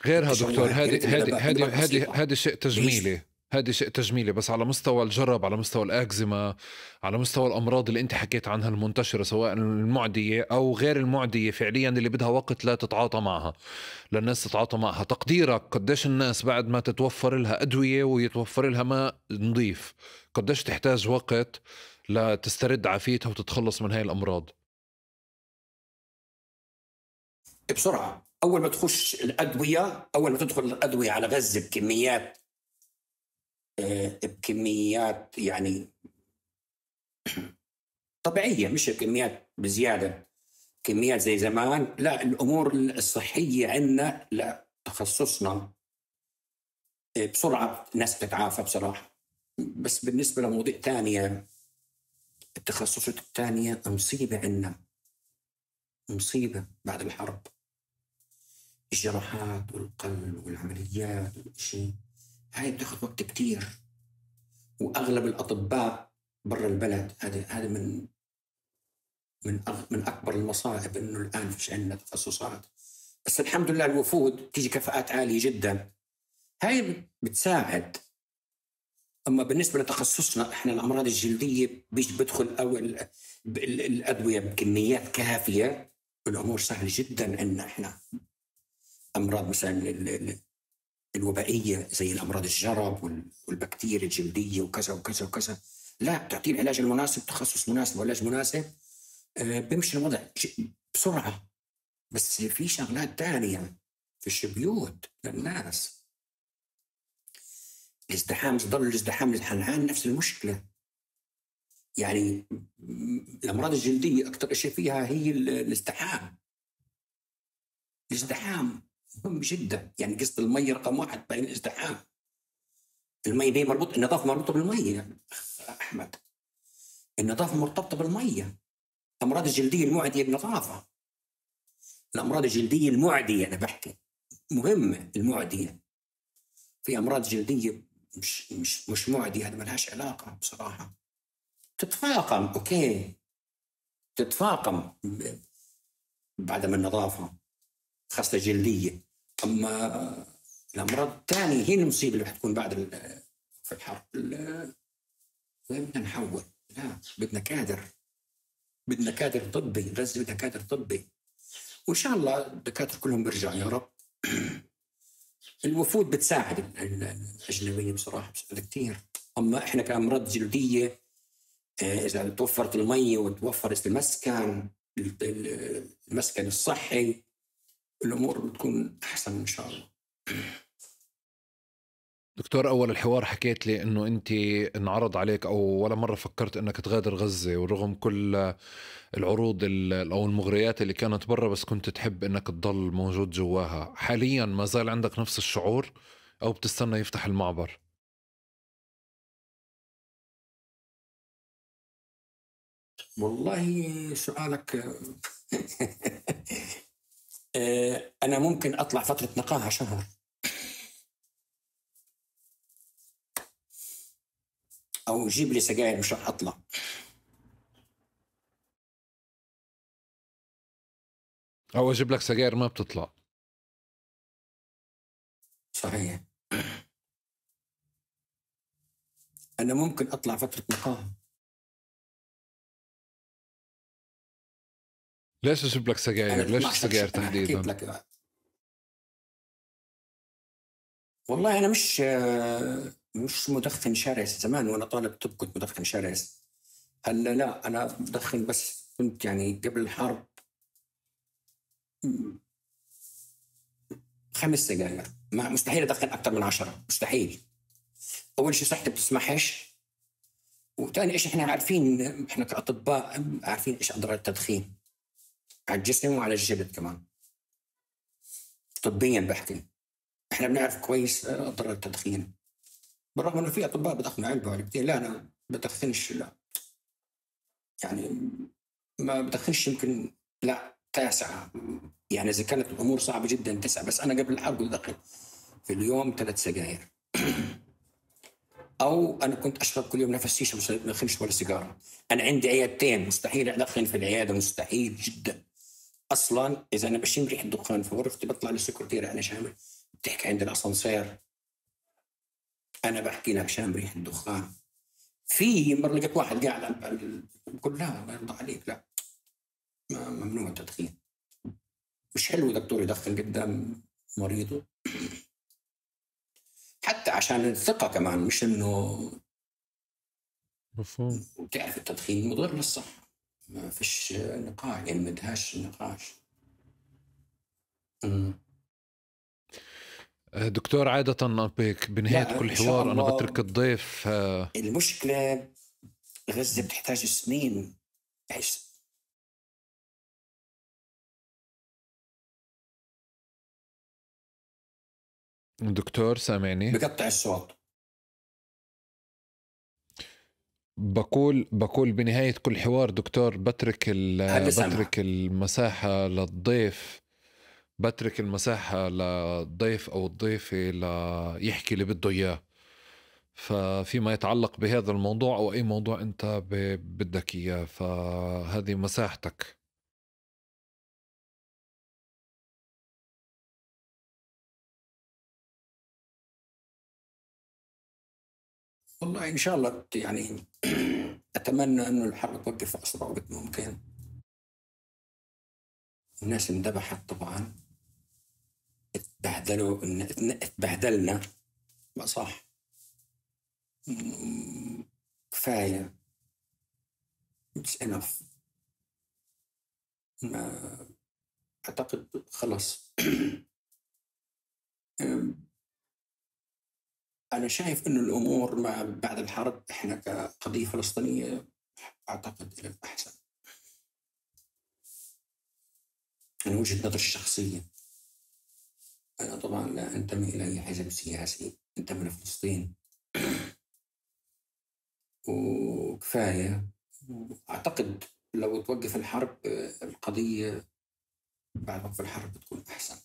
Speaker 2: غيرها دكتور هذه شيء تجميلي، هذا شيء تجميلي، بس على مستوى الجرب، على مستوى الأكزيما، على مستوى الأمراض اللي أنت حكيت عنها المنتشرة سواء المعدية أو غير المعدية فعليا اللي بدها وقت لا تتعاطى معها، للناس تتعاطى معها. تقديرك قديش الناس بعد ما تتوفر لها أدوية ويتوفر لها ماء نظيف قديش تحتاج وقت لتسترد عافيتها وتتخلص من هاي الأمراض؟
Speaker 1: بسرعة. أول ما تخش الأدوية، أول ما تدخل الأدوية على غزة بكميات يعني طبيعية، مش بكميات بزيادة، كميات زي زمان. لا، الأمور الصحية عندنا لا تخصصنا بسرعة الناس بتتعافى بصراحة. بس بالنسبة لمواضيع تانية، التخصصات التانية مصيبة عندنا، مصيبة بعد الحرب. الجراحات والقلب والعمليات والشيء هاي بتاخذ وقت كتير، وأغلب الأطباء برا البلد. هذا من أكبر المصائب إنه الآن فيش عندنا تخصصات. بس الحمد لله الوفود تيجي كفاءات عالية جدا، هاي بتساعد. أما بالنسبة لتخصصنا إحنا الأمراض الجلدية بدخل أول الأدوية بكميات كافية، الأمور سهلة جدا. إن إحنا أمراض مثلا الوبائية زي الأمراض الجرب والبكتيريا الجلدية وكذا وكذا وكذا، لا تعطيه العلاج المناسب، تخصص مناسب وعلاج مناسب، بيمشي الوضع بسرعة. بس في شغلات تانية في البيوت للناس، الازدحام، ظل الازدحام للحنان نفس المشكلة. يعني الأمراض الجلدية أكثر شيء فيها هي الازدحام. الازدحام مهم جدا. يعني قصة المية رقم 1 بين الازدحام. المية دي النظافة مربوطة بالمية أحمد، النظافة مرتبطة بالمية. الأمراض الجلدية المعدية بالنظافة. الأمراض الجلدية المعدية أنا بحكي مهمة، المعدية. في أمراض جلدية مش معدية، هذا ما لهاش علاقة بصراحة. تتفاقم، أوكي، تتفاقم بعدم النظافة خاصة جلدية. أما الأمراض الثانية هي المصيبة اللي حتكون بعد في الحرب. بدنا نحول، لا بدنا كادر طبي. غزة بدها كادر طبي، وإن شاء الله الدكاترة كلهم بيرجعوا يا رب. الوفود بتساعد الأجنبية بصراحة، بتساعد كتير. أما إحنا كأمراض جلدية إذا توفرت المية وتوفرت المسكن الصحي، الأمور بتكون أحسن إن شاء الله.
Speaker 2: دكتور، أول الحوار حكيت لي أنه أنت انعرض عليك أو ولا مرة فكرت أنك تغادر غزة، ورغم كل العروض أو المغريات اللي كانت برا، بس كنت تحب أنك تضل موجود جواها. حاليا ما زال عندك نفس الشعور أو بتستنى يفتح المعبر؟
Speaker 1: والله سؤالك أنا ممكن أطلع فترة نقاهة شهر، أو جيب لي سجاير مش رح أطلع.
Speaker 2: أو أجيب لك سجاير ما بتطلع.
Speaker 1: صحيح. أنا ممكن أطلع فترة نقاهة.
Speaker 2: ليش أجيب لك سجاير؟ ليش السجاير تحديدا؟ والله
Speaker 1: أنا مش مدخن شرس. زمان وأنا طالب طب كنت مدخن شرس. هلا لا، أنا بدخن بس كنت يعني قبل الحرب 5 سجاير. مستحيل أدخن أكثر من 10، مستحيل. أول شيء صحتي بتسمحش، وثاني إيش إحنا عارفين، إحنا كأطباء عارفين إيش أضرار التدخين على الجسم وعلى الجلد كمان. طبيا بحكي إحنا بنعرف كويس أضرار التدخين. بالرغم انه في اطباء بدخنوا علبه وعلبتين، لا انا بدخنش، لا يعني ما بدخنش، يمكن لا 9، يعني اذا كانت الامور صعبه جدا 9، بس انا قبل الحرب بدخن في اليوم 3 سجاير. او انا كنت اشرب كل يوم نفس شيشه، مش بدخنش ولا سيجاره. انا عندي عيادتين، مستحيل ادخن في العياده، مستحيل جدا. اصلا اذا انا بشم ريحه دخان في غرفتي بطلع للسكرتيره انا شامل، بتحكي عند الاسانسير انا بحكي لك شام ريحه دخان. في مره لقيت واحد قاعد بقول لا ما يرضى عليك، لا ممنوع التدخين، مش حلو دكتور يدخن قدام مريضه، حتى عشان الثقه كمان، مش انه
Speaker 2: مفهوم.
Speaker 1: تعرف التدخين مضر للصحه، ما فيش نقاش، يعني ما بدهاش نقاش.
Speaker 2: دكتور، عادة بنهاية
Speaker 1: لا
Speaker 2: كل
Speaker 1: ان شاء
Speaker 2: حوار أنا
Speaker 1: الله.
Speaker 2: بترك الضيف
Speaker 1: المشكله غزه بتحتاج سنين.
Speaker 2: دكتور سامعني؟
Speaker 1: بقطع الصوت.
Speaker 2: بقول بنهاية كل حوار دكتور
Speaker 1: هلا سامع.
Speaker 2: بترك المساحة للضيف، بترك المساحة للضيف أو الضيفة ليحكي اللي بده إياه. ففيما يتعلق بهذا الموضوع أو أي موضوع أنت بدك إياه، فهذه مساحتك.
Speaker 1: والله ان شاء الله يعني اتمنى انه الحرب توقف في اسرع وقت ممكن. الناس اندبحت طبعا، اتبهدلوا، اتبهدلنا، ما صح. كفايه، it's enough. ما اعتقد خلص. انا شايف انه الامور ما بعد الحرب احنا كقضيه فلسطينيه اعتقد الى الاحسن، من وجهه نظري الشخصيه. انا طبعا لا انتمي الى اي حزب سياسي، انتمي لفلسطين وكفايه. اعتقد لو توقف الحرب القضيه بعد وقف الحرب بتكون احسن،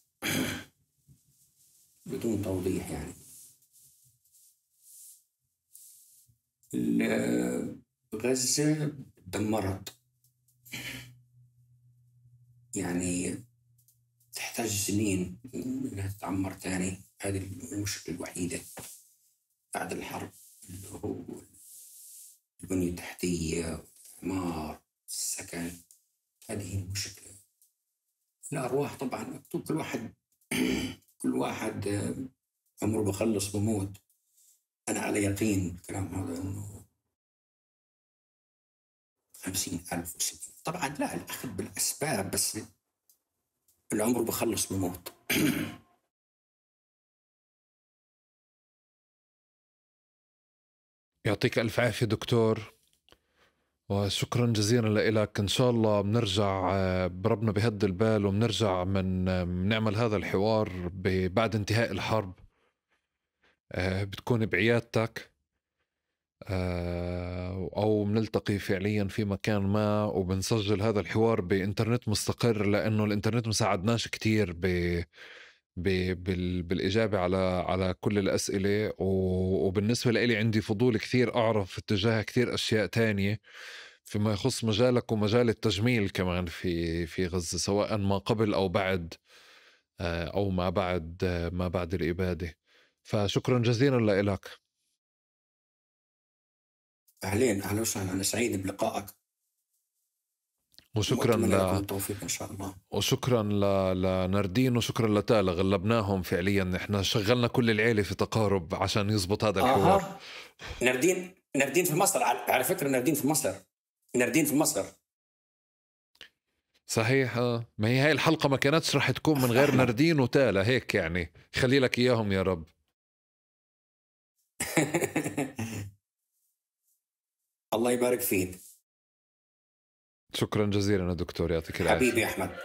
Speaker 1: بدون توضيح يعني. غزة دمرت، يعني تحتاج سنين انها تتعمر تاني. هذه المشكلة الوحيدة بعد الحرب، اللي هو البنية التحتية، الإعمار، السكن. هذه المشكلة. الأرواح طبعا مكتوب، كل واحد عمره بخلص بموت. أنا على يقين الكلام هذا إنه 50,000 و60. طبعا لا، الأخذ بالأسباب، بس العمر بخلص بموت.
Speaker 2: يعطيك ألف عافية دكتور، وشكرا جزيلا لك. إن شاء الله بنرجع بربنا بهد البال، وبنرجع من نعمل هذا الحوار بعد انتهاء الحرب. بتكون بعيادتك أو بنلتقي فعليا في مكان ما، وبنسجل هذا الحوار بإنترنت مستقر، لأنه الإنترنت مساعدناش كتير بالإجابة على كل الأسئلة. وبالنسبة لي عندي فضول كثير أعرف اتجاه كثير أشياء تانية فيما يخص مجالك ومجال التجميل كمان في غزة، سواء ما قبل أو بعد أو ما بعد الإبادة. فشكرا جزيلا لك.
Speaker 1: أهلين، أهلا وسهلا، أنا سعيد بلقائك،
Speaker 2: وشكرا
Speaker 1: وأتمنى لكم التوفيق إن شاء الله.
Speaker 2: وشكرا لناردين، وشكرا لتالا. غلبناهم فعليا، احنا شغلنا كل العيلة في تقارب عشان يزبط هذا الحوار.
Speaker 1: ناردين في مصر، على فكرة ناردين في مصر.
Speaker 2: صحيح. ما هي هاي الحلقة ما كانتش رح تكون من غير ناردين وتالا، هيك يعني خلي لك إياهم يا رب.
Speaker 1: الله يبارك فيك.
Speaker 2: شكرا جزيلا يا دكتور، يعطيك العافية
Speaker 1: حبيبي أحمد.